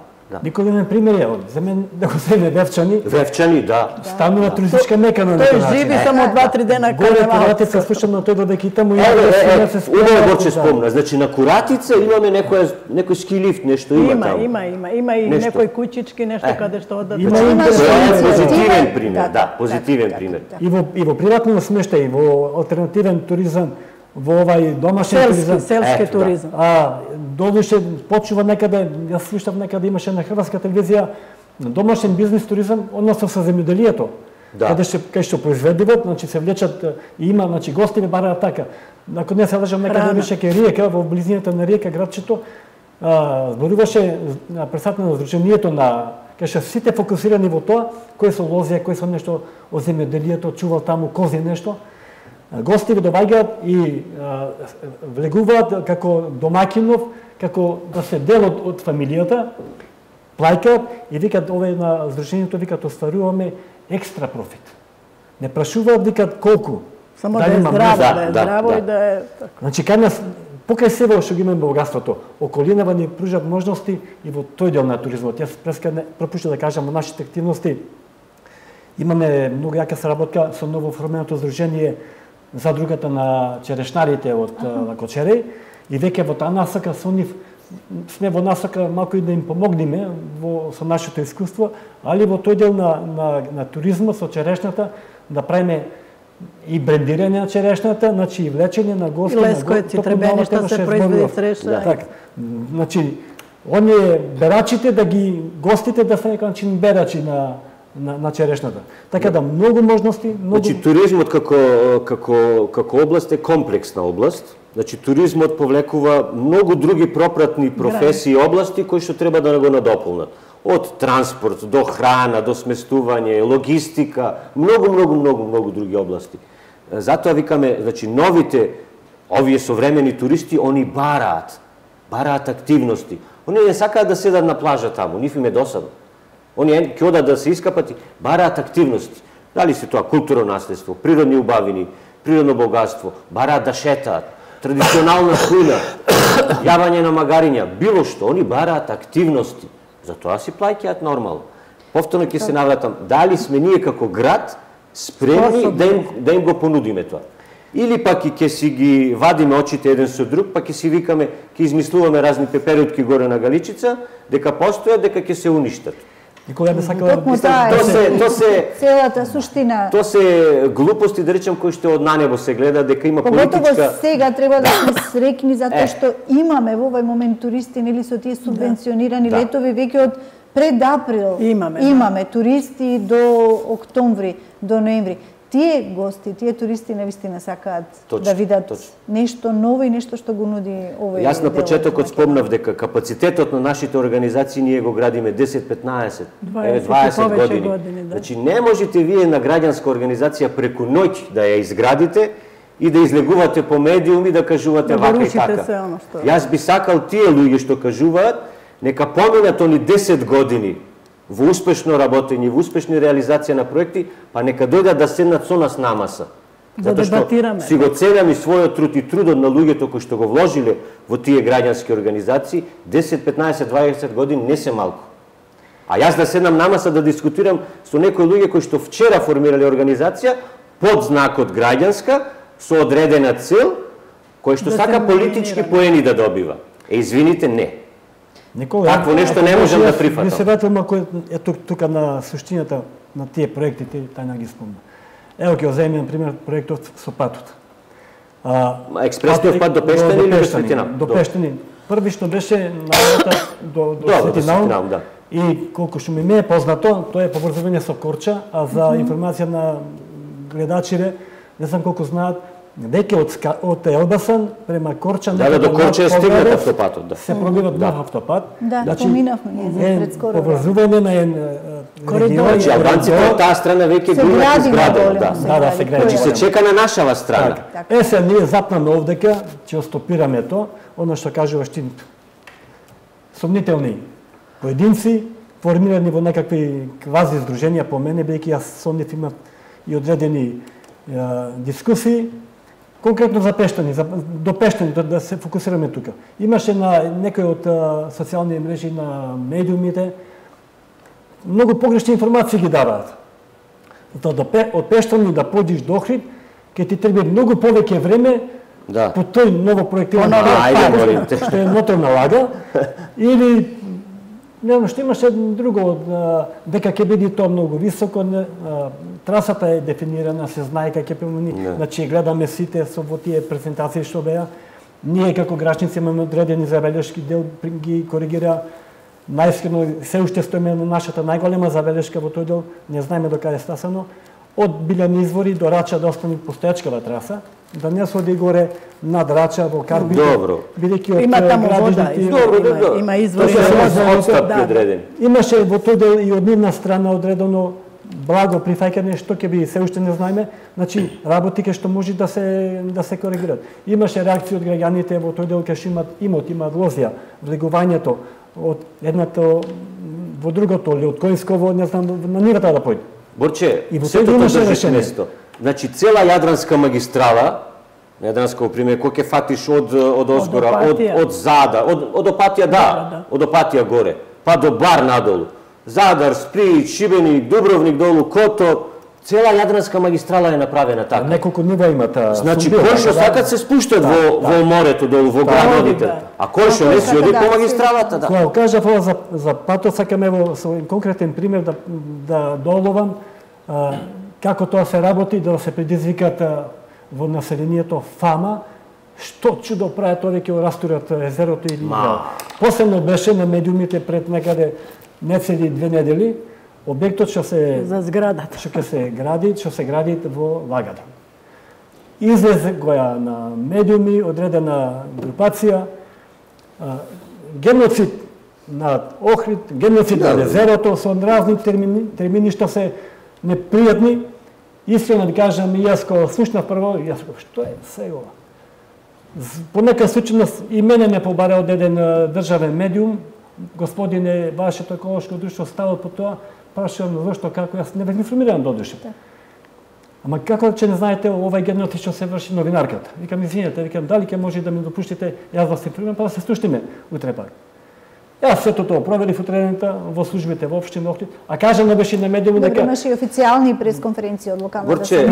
Никој пример е, за мен да го земе Вевчани. Вевчани, да. Станува туристичка мека на Тој живи само 2-3 дена кај Куратица, слушам на тој додека и таму и убаво го че спомна. Значи на Куратица имаме некој ски лифт, нешто има таму. Има и некои куќички, нешто каде што одат. Тоа е позитивен пример, да, позитивен пример. И во приватно смештај, во алтернативен туризам, во овај домашен туризам, селски туризам. Додуше почува некаде, јас слушав некаде имаше на хрватска телевизија домашен бизнес туризам, односно со земјоделието. Каде што произведуват, значи се влечат и има, значи гостиве бараат така. Ако не се лажам некаде беше кај Риека, во близината на Риека градчето, зборуваше на председател на Сдруженијето на кај што сите фокусирани во тоа, кои се лозија, кои се нешто од земјоделието, чувал таму кози нешто. Гости доаѓаат и влегуваат како домаќинов, како да се дел од фамилијата, плаќаат и викат овие на Сдруженијето викат остваруваме екстра профит. Не прашуваат викат колку. Само да е здраво, и да е така. Значи кај нас покрај себе што ги имаме богатството, околинава ни пружат можности и во тој дел на туризмот. Јас преска пропуштив да кажам во нашите активности имаме многу јака соработка со новоформеното здружение Задругата на черешнарите од Кочереј и веќе во таа насока со нив сме во насока малку и да им помогнеме со нашето искуство, али во тој дел на туризмот со черешната да правиме и брендирање на черешната, значи и влечење на гости на лескојци, требеништа се произведи среша. Така. Значи оние берачите да ги гостите да се некој начин берачи на черешната. Така да многу можности, многу. Значи туризмот како област е комплексна област. Значи туризмот повлекува многу други пропратни професии и области кои што треба да го надополнат. Од транспорт до храна, до сместување, логистика, многу други области. Затоа викаме, значи новите овие современи туристи, они бараат активности. Они не сакаат да седат на плажа таму, нив им е досадно. Они ќе одат да се искапат и бараат активности. Дали се тоа културно наследство, природни убавини, природно богатство, бараат да шетаат. традиционална кујна, јавање на магариња, било што, они бараат активности. Затоа си плаќаат нормално. Повторно ќе се навратам, дали сме ние како град спремни да им го понудиме тоа. Или пак и ќе си ги вадиме очите еден со друг, па ќе си викаме, ќе измислуваме разни пеперутки горе на Галичица, дека постојат, дека ќе се уништат. Никога не сакала Тоа се целата суштина. Тоа се глупости, да речем, кои што од на небо се гледа, дека има политичка... Поготово сега треба да сме среќни затоа што имаме во овој момент туристи, нели со тие субвенционирани летови веќе од пред април. Имаме туристи до октомври, до ноември. Тие гости, тие туристи навистина сакаат да видат нешто ново и нешто што го нуди овој. Јас на почетокот спомнав дека капацитетот на нашите организации ние го градиме 10-15, 20 години. Значи не можете вие на граѓанска организација преку ноќ да ја изградите и да излегувате по медиуми да кажувате вака и така. Јас би сакал тие луѓе што кажуваат, нека поминат они 10 години во успешно работење, во успешни реализација на проекти, па нека дојдат да седнат со нас на маса. Затоа што си го ценам и својот труд и трудот на луѓето кои што го вложиле во тие граѓански организации, 10, 15, 20 години не се малку. А јас да седнам на маса да дискутирам со некои луѓе кои што вчера формирале организација под знакот граѓанска, со одредена цел, кој што сака политички поени да добива. Извините, не. Такво нешто не можам да прифатам. Не се вратам ако е тука на суштината на тие проекти, тајна ги спомна. Ево ќе земеме на пример проектот со патот. Експресниот пат до Пештани или до Светина? До Пештани. Први што беше на до Светинаун. И колку што ми е познато, тоа е поврзување со Корча, а за информација на гледачите, не знам колку знаат, дека од Елбасан према Корча до Корча е стигнат автопатот, се пробива нов автопат. Да, поминавме ние пред скоро. Поврзување на коридор. Значи албанците од таа страна веќе го изградено, да, се гради. Значи се чека на нашава страна. Се ние запнаме овдека, ќе стопираме тоа, она што кажуваш ти. Сомнителни поединци, формирани во некакви квази здруженија по мене, бидејќи јас со нив имам и одредени дискусии. Конкретно за Пештани, до Пештани, да се фокусираме тука. Имаше на некои од социјални мрежи на медиумите, многу погрешни информации ги даваат. Од Пештани да поđиш до Охрид, ќе ти треба многу повеќе време по тој ново проектиран пат, што е ноторна лага, или не, што имаше друго, дека ќе биде тоа многу високо, трасата е дефинирана, се знае како ќе премини, значи гледаме сите со во тие презентации што беа. Ние како грачници имаме одредени забелешки, дел ги коригира. Најискрено се уште стоиме на нашата најголема забелешка во тој дел, не знаеме до каде стасано, од Билјани извори до Рача да остане постоечкава траса, да не се оди горе над Рача во Карбите. Добро. Има таму вода, има извори. Имаше во тој дел и од нивна страна одредено благо прифаќање што ќе биде, се уште не знаеме, значи работи ке што може да се коригират. Имаше реакции од граѓаните во тој дел кај што имаат лозија, влегувањето од едното во другото, или од Којсково, не знам, на нивата да појде. Борче, сето тоа држиш место. Значи, цела Јадранска магистрала, Јадранска, пример, кој ќе фатиш од Озгора, од Зада, од Опатија, од Опатија горе, па до Бар надолу, Задар, Сплит, Шибеник, Дубровник долу, Котор, цела Јадранска магистрала е направена така. Неколку нива има таа. Значи, кој што сакат се спуштат во морето долу, во градовите, а кој што не си оди по магистралата, да. Кога кажав ова за патот, сакам ево со конкретен пример да доловам како тоа се работи, да се предизвикат во населението фама, што чудо прават овие ќе растурат езерото или Последно беше на медиумите пред некаде не цели 2 недели, објектот што се за зградата што ќе се гради во Вагадан. Излезе гоја на медиуми одредена групација, геноцид на Охрид, геноцид на езерото со разни термини што се непријатни. Искрено да кажам, и јас кога слушнав прво, јас што е сега? По нека случајност и мене ме побара од еден државен медиум, господине, вашето еколошко друштво става по тоа, прашувам зошто, како, јас не бев информиран додуше. Ама како че не знаете овај геноти што се врши новинарката? Викам, извинете, дали ќе може да ми допуштите јас да се примам, па да се слушнеме утре пак. Јас сето тоа проверив утрената во службите во општина Охрид, а кажано беше на медиуму дека имаше и официјални пресконференции од локалната Борче,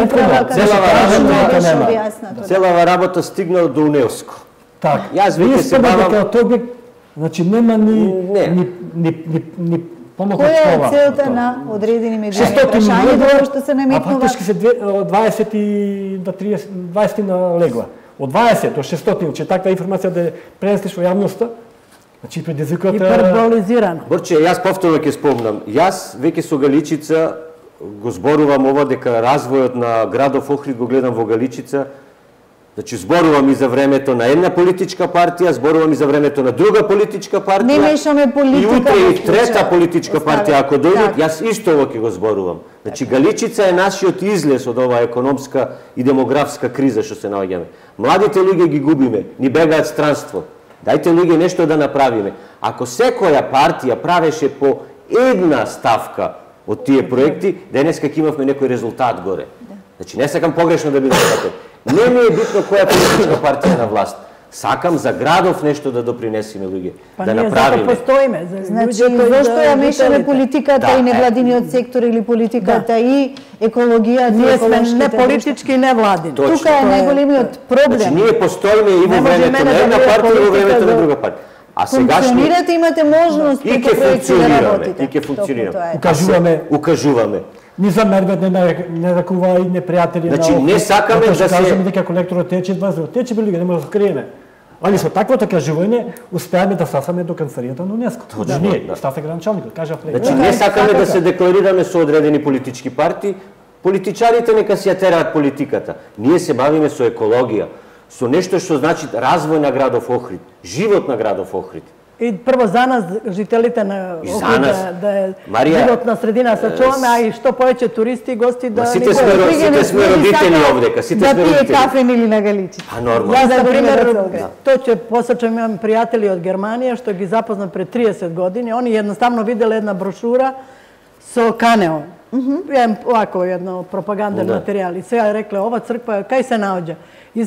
целава работа стигнала до УНЕСКО. Так. Јас веќе се бавам дека тој објект, значи нема ни помог од Која това. е целта на одредени медиуми прашања тоа што се А наметнува? фактички се 20 до 30, 20 на легла. Од 20 до 600, че таква информација да пренесеш во јавноста, значи предизвиката Гиперболизирано. Борче, јас повторно ќе спомнам. Јас веќе со Галичица го зборувам ова дека развојот на градов Охрид го гледам во Галичица. Значи зборувам и за времето на една политичка партија, зборувам и за времето на друга политичка партија. Не мешаме политика. И утре во и трета случај. политичка Остави. партија ако дојдат, Така. јас исто ово ќе го зборувам. Значи Галичица е нашиот излез од оваа економска и демографска криза што се наоѓаме. Младите луѓе ги губиме, ни бегаат странство. Дајте луѓе нешто да направиме. Ако секоја партија правеше по една ставка од тие проекти, денеска ќе имавме некој резултат горе. Значи не сакам погрешно да биде сватен. Не ми е битно која политичка партија е на власт. Сакам за градов нешто да допринесеме луѓе, Па да ние зато направиме. постоиме. За Значи, луѓето и зошто за ја мешаме жителите. политиката Да, и невладиниот сектор или политиката и екологијата, Ние сме еколошките не друштва? политички и не владини. Точно. Тука е Тоа најголемиот Значи проблем. ние постоиме и Не во може времето мене на да една биде партија и во политика времето на за- друга партија. А сегашни Функционирате, имате можност и преку ќе проекти да функционираме, работите. и ќе функционираме. Токму тоа е. Укажуваме. Укажуваме. ни замерват, не ракува и непријатели. Значи, не сакаме да се кажеме дека колекторот тече 20, тече бе луѓе, не може да скриеме. Али со таквото кажување успеаме да стасаме до канцеларијата на УНЕСКО. Точно, Ние, да. стафе гранчалникот, кажа пред. Значи, не сакаме да се декларираме со одредени политички партии, политичарите нека си ја тераат политиката. Ние се бавиме со екологија, со нешто што значи развој на градов Охрид, живот на градов Охрид. И прво за нас, жителите на И за Охрид, нас. да е Марија, животна средина сачуваме, а и што повеќе туристи и гости да сите ни сме го- сите сме родители овдека, сите да сме пие родители. кафе или на Галичи. А нормално. Јас, Да на го пример, гледа цел град. тоа ќе посачам, имам пријатели од Германија, што ги запознам пред 30 години. Они едноставно виделе една брошура со Канео. Еден овако едно пропаганден Да. материјал. И сега рекле, ова црква кај се наоѓа? И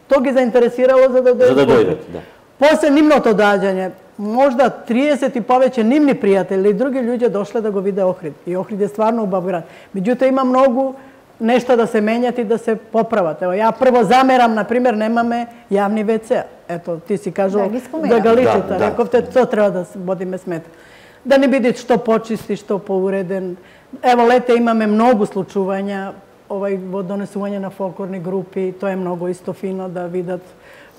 тоа ги заинтересирало за да дојдат. За да дојдат, да. После нивното доаѓање, можда 30 и повеќе нивни пријатели и други луѓе дошле да го виде Охрид. И Охрид е стварно убав град. Меѓутоа има многу нешта да се менјат и да се поправат. Ево, ја прво замерам, на пример, немаме јавни WC. Ето, ти си кажал Да, ги спомена. за Галичица, Да, да. рековте, тоа треба да водиме смет. Да не биде што почисти, што поуреден. Ево, лете имаме многу случувања, во донесување на фолклорни групи, тоа е многу исто фино да видат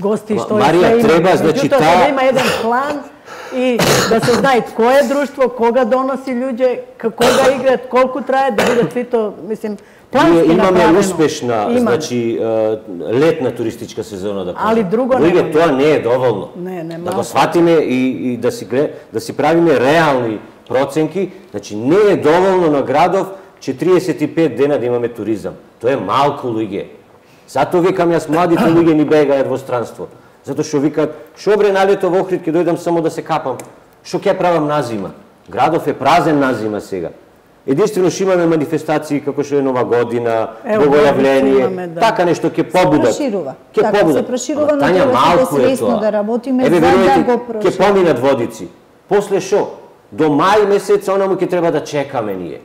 гости што Марија, треба, значи, Меѓутоа, таа- да има еден план и да се знае кое е друштво, кога доноси луѓе, кога играат, колку трае, да биде сито, мислим, плански Ние имаме направено. успешна, Имаме. значи, летна туристичка сезона, да кажем. Али друго Луѓе, немаме. тоа не е доволно. Не, Да малку. го сватиме и да си правиме реални проценки, значи не е доволно на градов 45 дена да имаме туризам. Тоа е малку луѓе. Затоа викам јас младите луѓе ни бегаат во странство. Затоа што викаат, што бре на лето во Охрид ќе дојдам само да се капам. Што ќе правам на зима? Градов е празен на зима сега. Единствено што имаме манифестации како што е Нова година, Ево, богојавление, имаме, да. така нешто ќе побудат. проширува. Ќе Така, побудат. се проширува, Ама, но Тања, треба да малку е свесно тоа. да работиме Еве, за да верувате, го ќе прошируваме. поминат водици. После што? До мај месец онаму ќе треба да чекаме ние.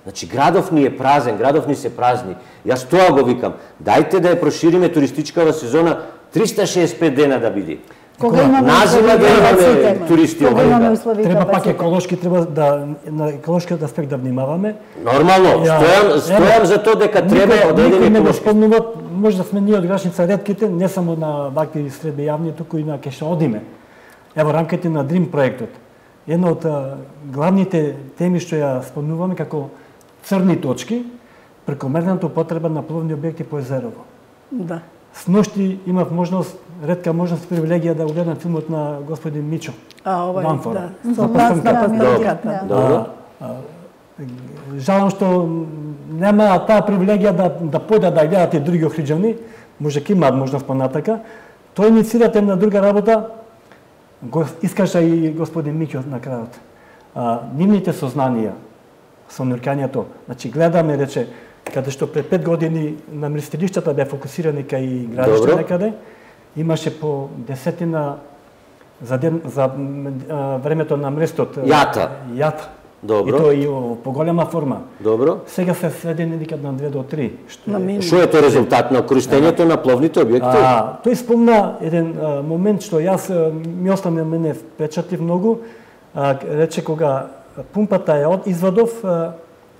Значи, градов ни е празен, градов ни се празни. Јас тоа го викам. Дајте да ја прошириме туристичкава сезона 365 дена да биде. Кога имаме Назима да имаме капацитет, туристи кога овде. имаме услови Треба пак капацитет. еколошки, треба да на еколошкиот аспект да внимаваме. Нормално, стојам за тоа дека треба Никој одредени не го еколошки. спомнува, може да сме ние од Грачница ретките, не само на вакви средби јавни, туку и на кај што одиме. Ево рамките на Дрим проектот. Една од главните теми што ја спомнуваме како црни точки, прекомерната употреба на пловни објекти по езерово. Да. Сношти имав можност, ретка можност, привилегија да го гледам филмот на господин Мичо. А, ова Ванфора. да. За Со пастинката. на пастинката. Да. Добро. Жалам што нема таа привилегија да појдат да гледат и други охриджани, може ќе имаат можност понатака. Тоа инициирате на друга работа, го искаша и господин Миќо на крајот. Нивните сознанија со нуркањето, значи гледаме, рече, каде што пред 5 години наместилиштата беа фокусирани кај градиште некаде, имаше по десетина за ден за времето на мрестот. Јата. Добро. И тоа и во поголема форма. Добро. Сега се сведени никад на 2 до 3. Што е тоа резултат на користењето на пловните објекти? Тој спомна еден момент што јас ми остана мене впечатлив многу. Рече кога пумпата е од извадов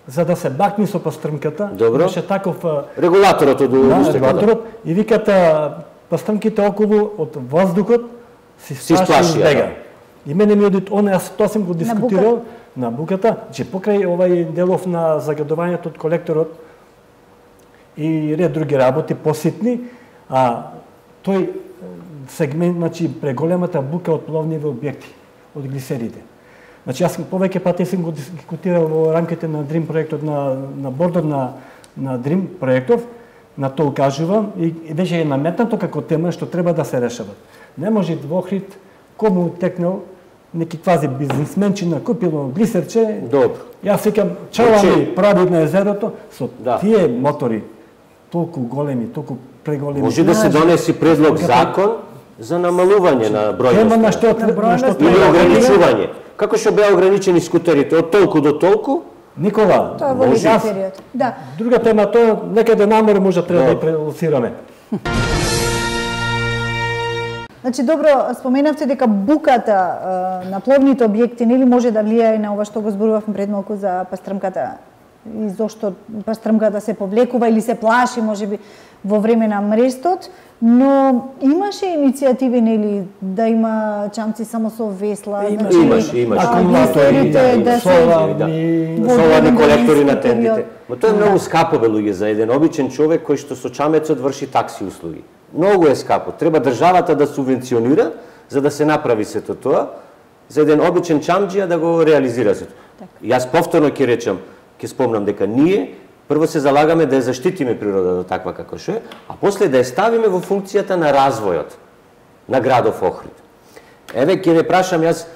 за да се бакни со пастрмката, имаше таков регулаторот од регулаторот и виката пастрмките околу од воздухот си сплаши бега. И мене ми одит јас тоа сум го дискутирал на буката, че покрај овај делов на загадувањето од колекторот и ред други работи поситни, тој сегмент, значи преголемата бука од пловниви објекти, од глисерите. Значи јас повеќе пати сум го дискутирал во рамките на Дрим проектот на бордот на Дрим проектов, на тоа укажувам и веќе е наметнато како тема што треба да се решават. Не може во Охрид кому текнал неки квази бизнисменчина купило глисерче. Добро. Јас викам чалами прави на езерото со тие мотори толку големи, толку преголеми. Може да се донеси предлог закон за намалување на бројност или ограничување. Како што беа ограничени скутерите од толку до толку? Никола, тоа во период. Да. Друга тема тоа некаде намор може треба да ја прелоцираме. Значи, добро, споменавте дека буката на пловните објекти нели може да влијае на ова што го зборувавме пред малку за пастрмката и зошто пастрмката се повлекува или се плаши можеби во време на мрестот, но имаше иницијативи нели да има чамци само со весла, имаше акумулатори, соларни колектори на тентите. Но тоа е многу скапо бе луѓе за еден обичен човек кој што со чамецот врши такси услуги. Многу е скапо. Треба државата да субвенционира за да се направи сето тоа, за еден обичен чамџија да го реализира сето. Јас повторно ќе речам, ќе спомнам дека ние прво се залагаме да ја заштитиме природата таква како што е, а после да ја ставиме во функцијата на развојот на градов Охрид. Еве ќе ве прашам јас,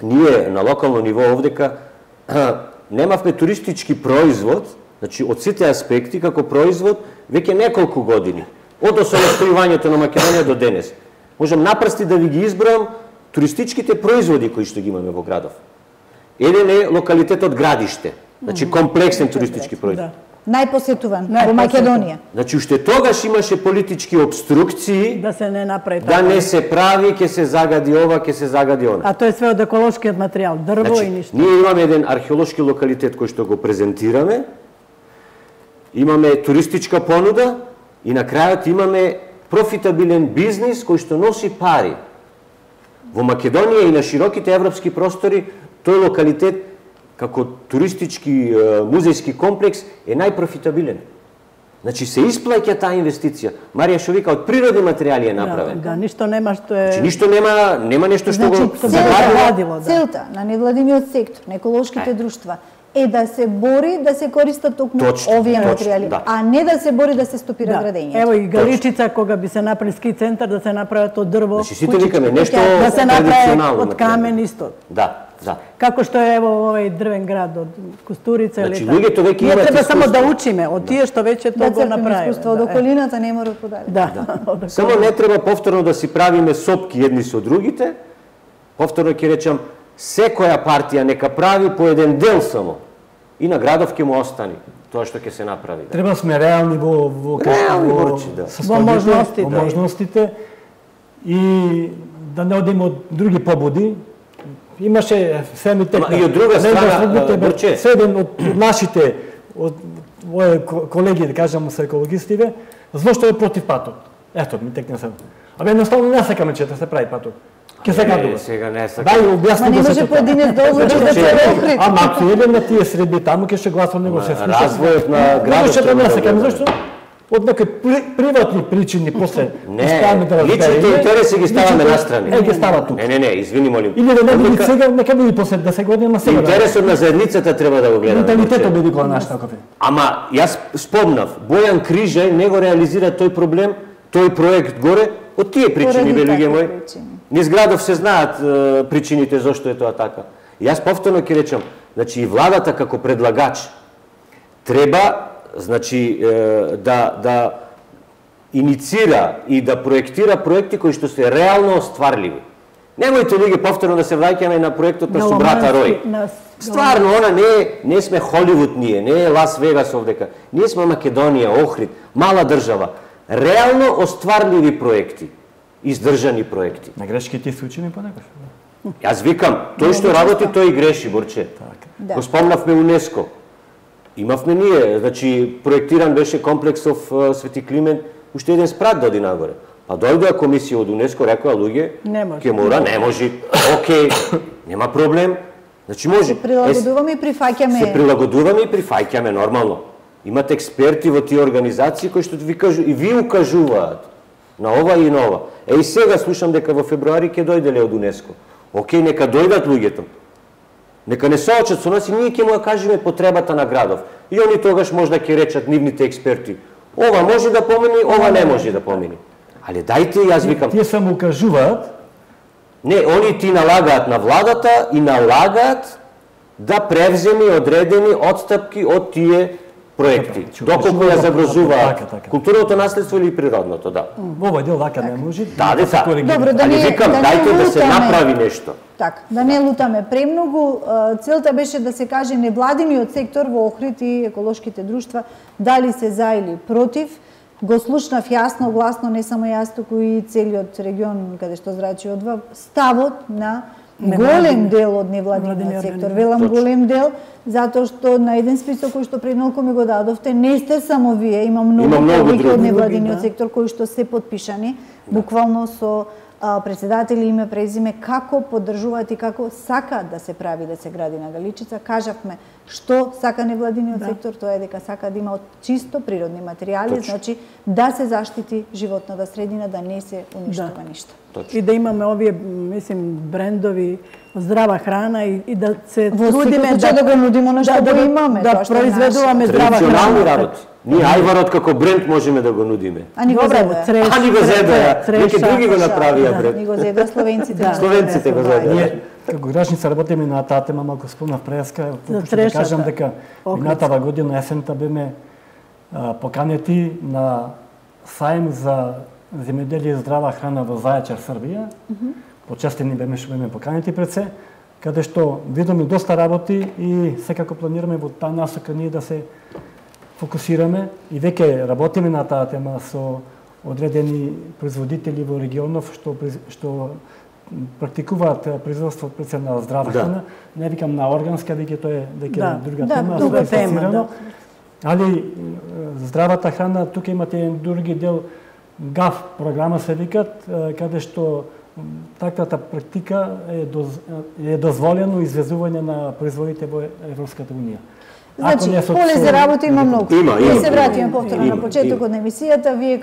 ние на локално ниво овдека немавме туристички производ, значи од сите аспекти како производ веќе неколку години. Од осамостојувањето на Македонија до денес. Можам напрсти да ви ги избројам туристичките производи кои што ги имаме во градов. Еден е локалитетот Градиште, значи комплексен туристички производ. Најпосетуван во Македонија. Значи уште тогаш имаше политички обструкции да се не направи да не се прави, ќе се загади ова, ќе се загади она. А тоа е све од еколошкиот материјал, дрво и ништо. Ние имаме еден археолошки локалитет кој што го презентираме. Имаме туристичка понуда и на крајот имаме профитабилен бизнис кој што носи пари. Во Македонија и на широките европски простори тој локалитет како туристички музејски комплекс е најпрофитабилен. Значи се исплаќа таа инвестиција. Марија што вика од природни материјали е направен. Да, ништо нема што е. Значи ништо нема нешто што го загадило. Целта на невладиниот сектор, на еколошките друштва е да се бори да се користат токму овие материјали, а не да се бори да се стопира градењето. Ево и Галичица кога би се направи ски центар да се направат од дрво. Значи сите викаме нешто да се направи од камен исто. Да. Како што е ево овој дрвен град од Кустурица или така. Луѓето веќе имаат искуство. Треба само да учиме од тие што веќе тоа го направиле. Искуство од околината не мора подале. Да. Само не треба повторно да си правиме сопки едни со другите. Повторно ќе речам, секоја партија нека прави по еден дел само. И на градов ќе му остани тоа што ќе се направи. Треба сме реални во можностите и да не одиме од други побуди. Имаше семите и од друга страна Борче, седен од нашите од мои колеги, да кажам, се екологистиве, зошто е против патот. Ето, ми текне се. Абе едноставно не сакаме че да се прави патот. Ке се гадува. Сега не сакаме. Дај објасни да се поединец да одлучи да се Охрид. Ама ако еден на тие среди таму ќе се гласува него се слуша. Развојот на градот ќе не сакаме зашто? Од некои приватни причини после ставаме да разбереме. Личните интереси ги ставаме настрани. Ги става тук. Не, извини молим. Или да не биде сега, нека биде после 10 години, ама сега. Интересот на заедницата треба да го гледаме. Менталитетот би викала наш таков. Ама јас спомнав, Бојан Крижај не го реализира тој проблем, тој проект горе од тие причини, бе луѓе мои. Низ градов се знаат причините зошто е тоа така. Јас повторно ќе речам, значи и владата како предлагач треба значи да иницира и да проектира проекти кои што се реално остварливи. Немојте луѓе повторно да се враќаме на проектот на Субрата Рој. Стварно, она не сме Холивуд ние, не е Лас Вегас овдека. Ние сме Македонија, Охрид, мала држава. Реално остварливи проекти, издржани проекти. На грешките се учиме понекогаш. Јас викам, тој што работи, тој и греши, Борче. Го спомнавме УНЕСКО. Имавме ние, значи, проектиран беше комплексов Свети Климент, уште еден спрат доди нагоре. Па дојдоа комисија од УНЕСКО, рекоа луѓе, ке мора, не може, окей, нема проблем. Значи може. Се прилагодуваме и прифаќаме. Се прилагодуваме и прифаќаме нормално. Имате експерти во тие организации кои што ви кажу и ви укажуваат на ова и на ова. И сега слушам дека во февруари ќе дојделе од УНЕСКО. Океј, нека дојдат луѓето. Нека не соочат со нас и ние ќе му ја кажеме потребата на градов. И они тогаш можда ќе речат нивните експерти. Ова може да помини, ова не може да помини. Але дајте, јас викам... Тие само укажуваат. Не, они ти налагаат на владата и налагаат да превземи одредени отстапки од тие проекти. Доколку ја загрозуваат културното наследство или природното, да. Во овој дел вака не може. Да, дека. Добро, Али викам, дајте да се направи нешто. Така, да не лутаме премногу. Целта беше да се каже невладиниот сектор во Охрид и еколошките друштва дали се за или против. Го слушнав јасно, гласно, не само јас, туку и целиот регион каде што зрачи одва, ставот на голем дел од невладиниот сектор. Велам голем дел, затоа што на еден список кој што пред малку ми го дадовте, не сте само вие, има многу повеќе од невладиниот сектор кои што се подпишани, буквално со председатели, име, презиме, како поддржуваат и како сакаат да се прави, да се гради на Галичица. Кажавме што сака невладиниот сектор, тоа е дека сака да има од чисто природни материјали, значи да се заштити животната средина, да не се уништува ништо. И да имаме овие, мислим, брендови, здрава храна и да се трудиме да го нудимо на што го имаме, да произведуваме здрава храна. Традиционални работи. Ние ајварот како бренд можеме да го нудиме. А ни го зедоја. А ни го зедоја. Неки други го направија бренд. Ни го зедоја словенците. Словенците го зедоја. Ние како гражданица работиме на таа тема, малку спомнав преска, да кажам дека минатава година есента беме поканети на сајм за земјоделие и здрава храна во Зајачар, Србија. Почестени беме што беме поканети пред се, каде што видоме доста работи и секако планираме во таа насока ние да се фокусираме и веќе работиме на таа тема со одредени производители во регионов што практикуваат производство пред на здрава храна. Не викам на органска, веќе тоа е дека друга тема, специфицирано. Али здравата храна, тука имате еден други дел, ГАФ програма се викат, каде што таквата практика е дозволено извезување на производите во Европската унија. Значи, поле за работа има многу. Ние се вратиме повторно на почетокот на емисијата, вие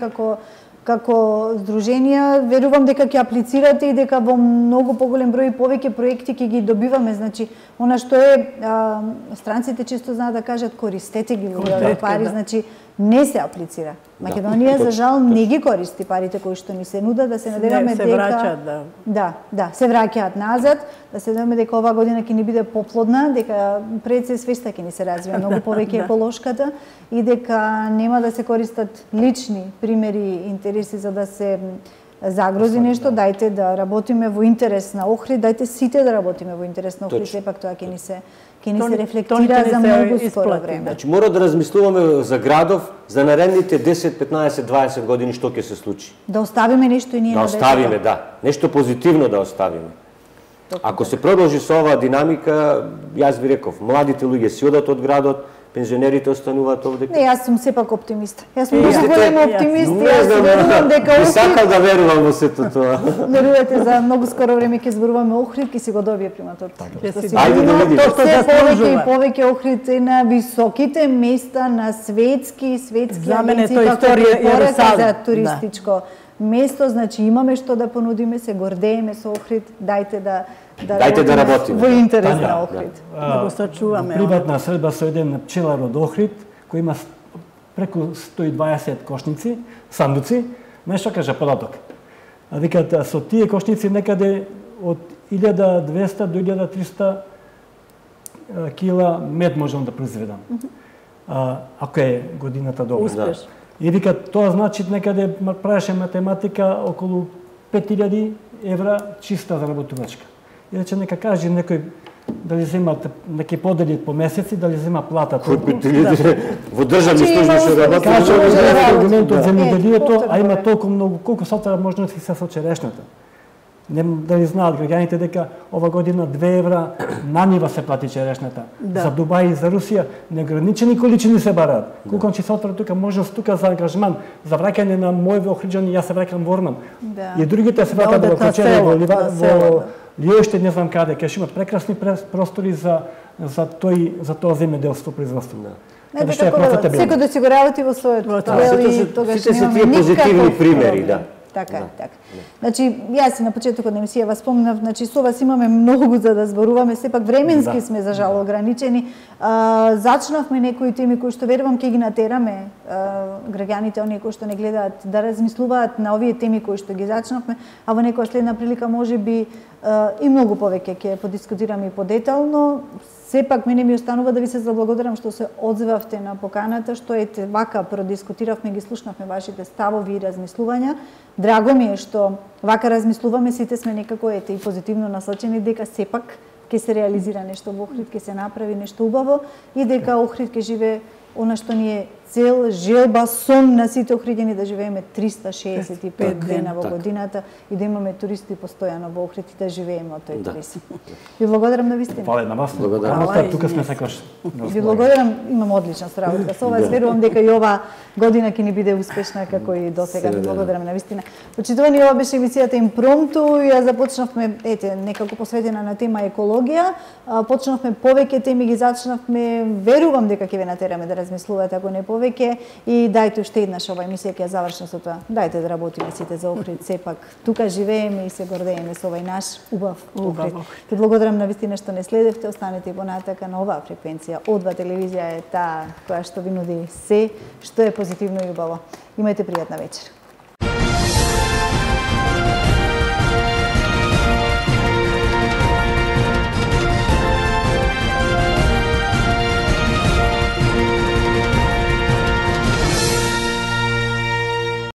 како здруженија, верувам дека ќе аплицирате и дека во многу поголем број и повеќе проекти ќе ги добиваме. Значи, она што е, странците често знаат да кажат користете ги во пари, значи не се аплицира. Македонија за жал не ги користи парите кои што ни се нудат, да се надеваме дека се враќаат, да, се враќаат назад, да се надеваме дека оваа година ќе ни биде поплодна, дека пред се свеста ќе ни се развија многу повеќе еколошката и дека нема да се користат лични примери и интереси за да се загрози нешто. Дајте да работиме во интерес на Охрид, дајте сите да работиме во интерес на Охрид, сепак тоа ќе ни се рефлектира за многу скоро време. Значи мора да размислуваме за градов за наредните 10, 15, 20 години што ќе се случи. Да оставиме нешто и ние да оставиме, да. Нешто позитивно да оставиме. Ако се продолжи со оваа динамика, јас ви реков, младите луѓе си одат од градот, пензионерите остануваат овде. Не, јас сум сепак оптимист. Јас сум многу голем оптимист. Јас верувам дека Охрид... сакам да верувам во сето тоа. Верувате, за многу скоро време ќе зборуваме Охрид, ќе си го добие приматорот. Ајде да видиме. Тоа што повеќе и повеќе Охрид е на високите места на светски за мене тоа историја Јерусалим за туристичко место, значи имаме што да понудиме, се гордееме со Охрид, дајте да работиме во интерес на Охрид. Да го сачуваме. Приватна средба со еден пчелар од Охрид, кој има преку 120 кошници, сандуци, нешто кажа податок. А викат, со тие кошници некаде од 1200 до 1300 кила мед можам да произведам. ако е годината добра. Успеш. И вика, тоа значи некаде правеше математика околу 5000 евра чиста заработувачка. И рече, нека каже некој дали земат неки подели по месеци, дали зема плата толку. Во државни служби што работат. Каже, аргумент од земјоделието, а има толку многу, колку сата можности се со черешната. Не дали знаат граѓаните дека ова година 2 евра на нива се плати черешната. За Дубај и за Русија неограничени количини се бараат. Колку че сотра тука можност тука за ангажман, за враќање на мој Охриџани, јас се враќам во Орман. И другите се враќаат во Кочере, во Лиоште, не знам каде, кај имат прекрасни простори за тоа земјоделство производство. Не, дека секој да си го работи во својот дел и тогаш немаме позитивни примери, да. Така, така. Значи, јас на почетокот на емисијава спомнав, значи со вас имаме многу за да зборуваме, сепак временски сме за жал ограничени. Зачнавме некои теми кои што верувам ќе ги натераме граѓаните, оние кои што не гледаат, да размислуваат на овие теми кои што ги зачнавме, а во некоја следна прилика можеби и многу повеќе ќе подискутираме и подетално. Сепак мене ми останува да ви се заблагодарам што се одзивавте на поканата, што ете вака продискутиравме, ги слушнавме вашите ставови и размислувања. Драго ми е што вака размислуваме, сите сме некако ете и позитивно насочени дека сепак ќе се реализира нешто во Охрид, ќе се направи нешто убаво и дека Охрид ќе живее она што ни е цел, желба, сон на сите охриѓани да живееме 365 дена во годината и да имаме туристи постојано во Охрид и да живееме од тој туризм. Ви благодарам на вистина. Фала на вас. Тука сме секојаш. Ви благодарам, имам одлична соработка со вас. Верувам дека и ова година ќе ни биде успешна како и досега. Ви благодарам на вистина. Почитувани, ова беше емисијата Импромту. Ја започнавме некако посветена на тема екологија. Почнавме повеќе теми, ги зачнавме. Верувам дека ќе ве натераме да размислувате, ако не повеќе. И дајте уште еднаш ова емисија ќе ја завршам со тоа. Дајте да работиме сите за Охрид, сепак тука живееме и се гордееме со овој наш убав Охрид. Ти благодарам на вистина што не следевте, останете и понатака на оваа фреквенција. Одва телевизија е таа која што ви нуди се што е позитивно и убаво. Имајте пријатна вечер.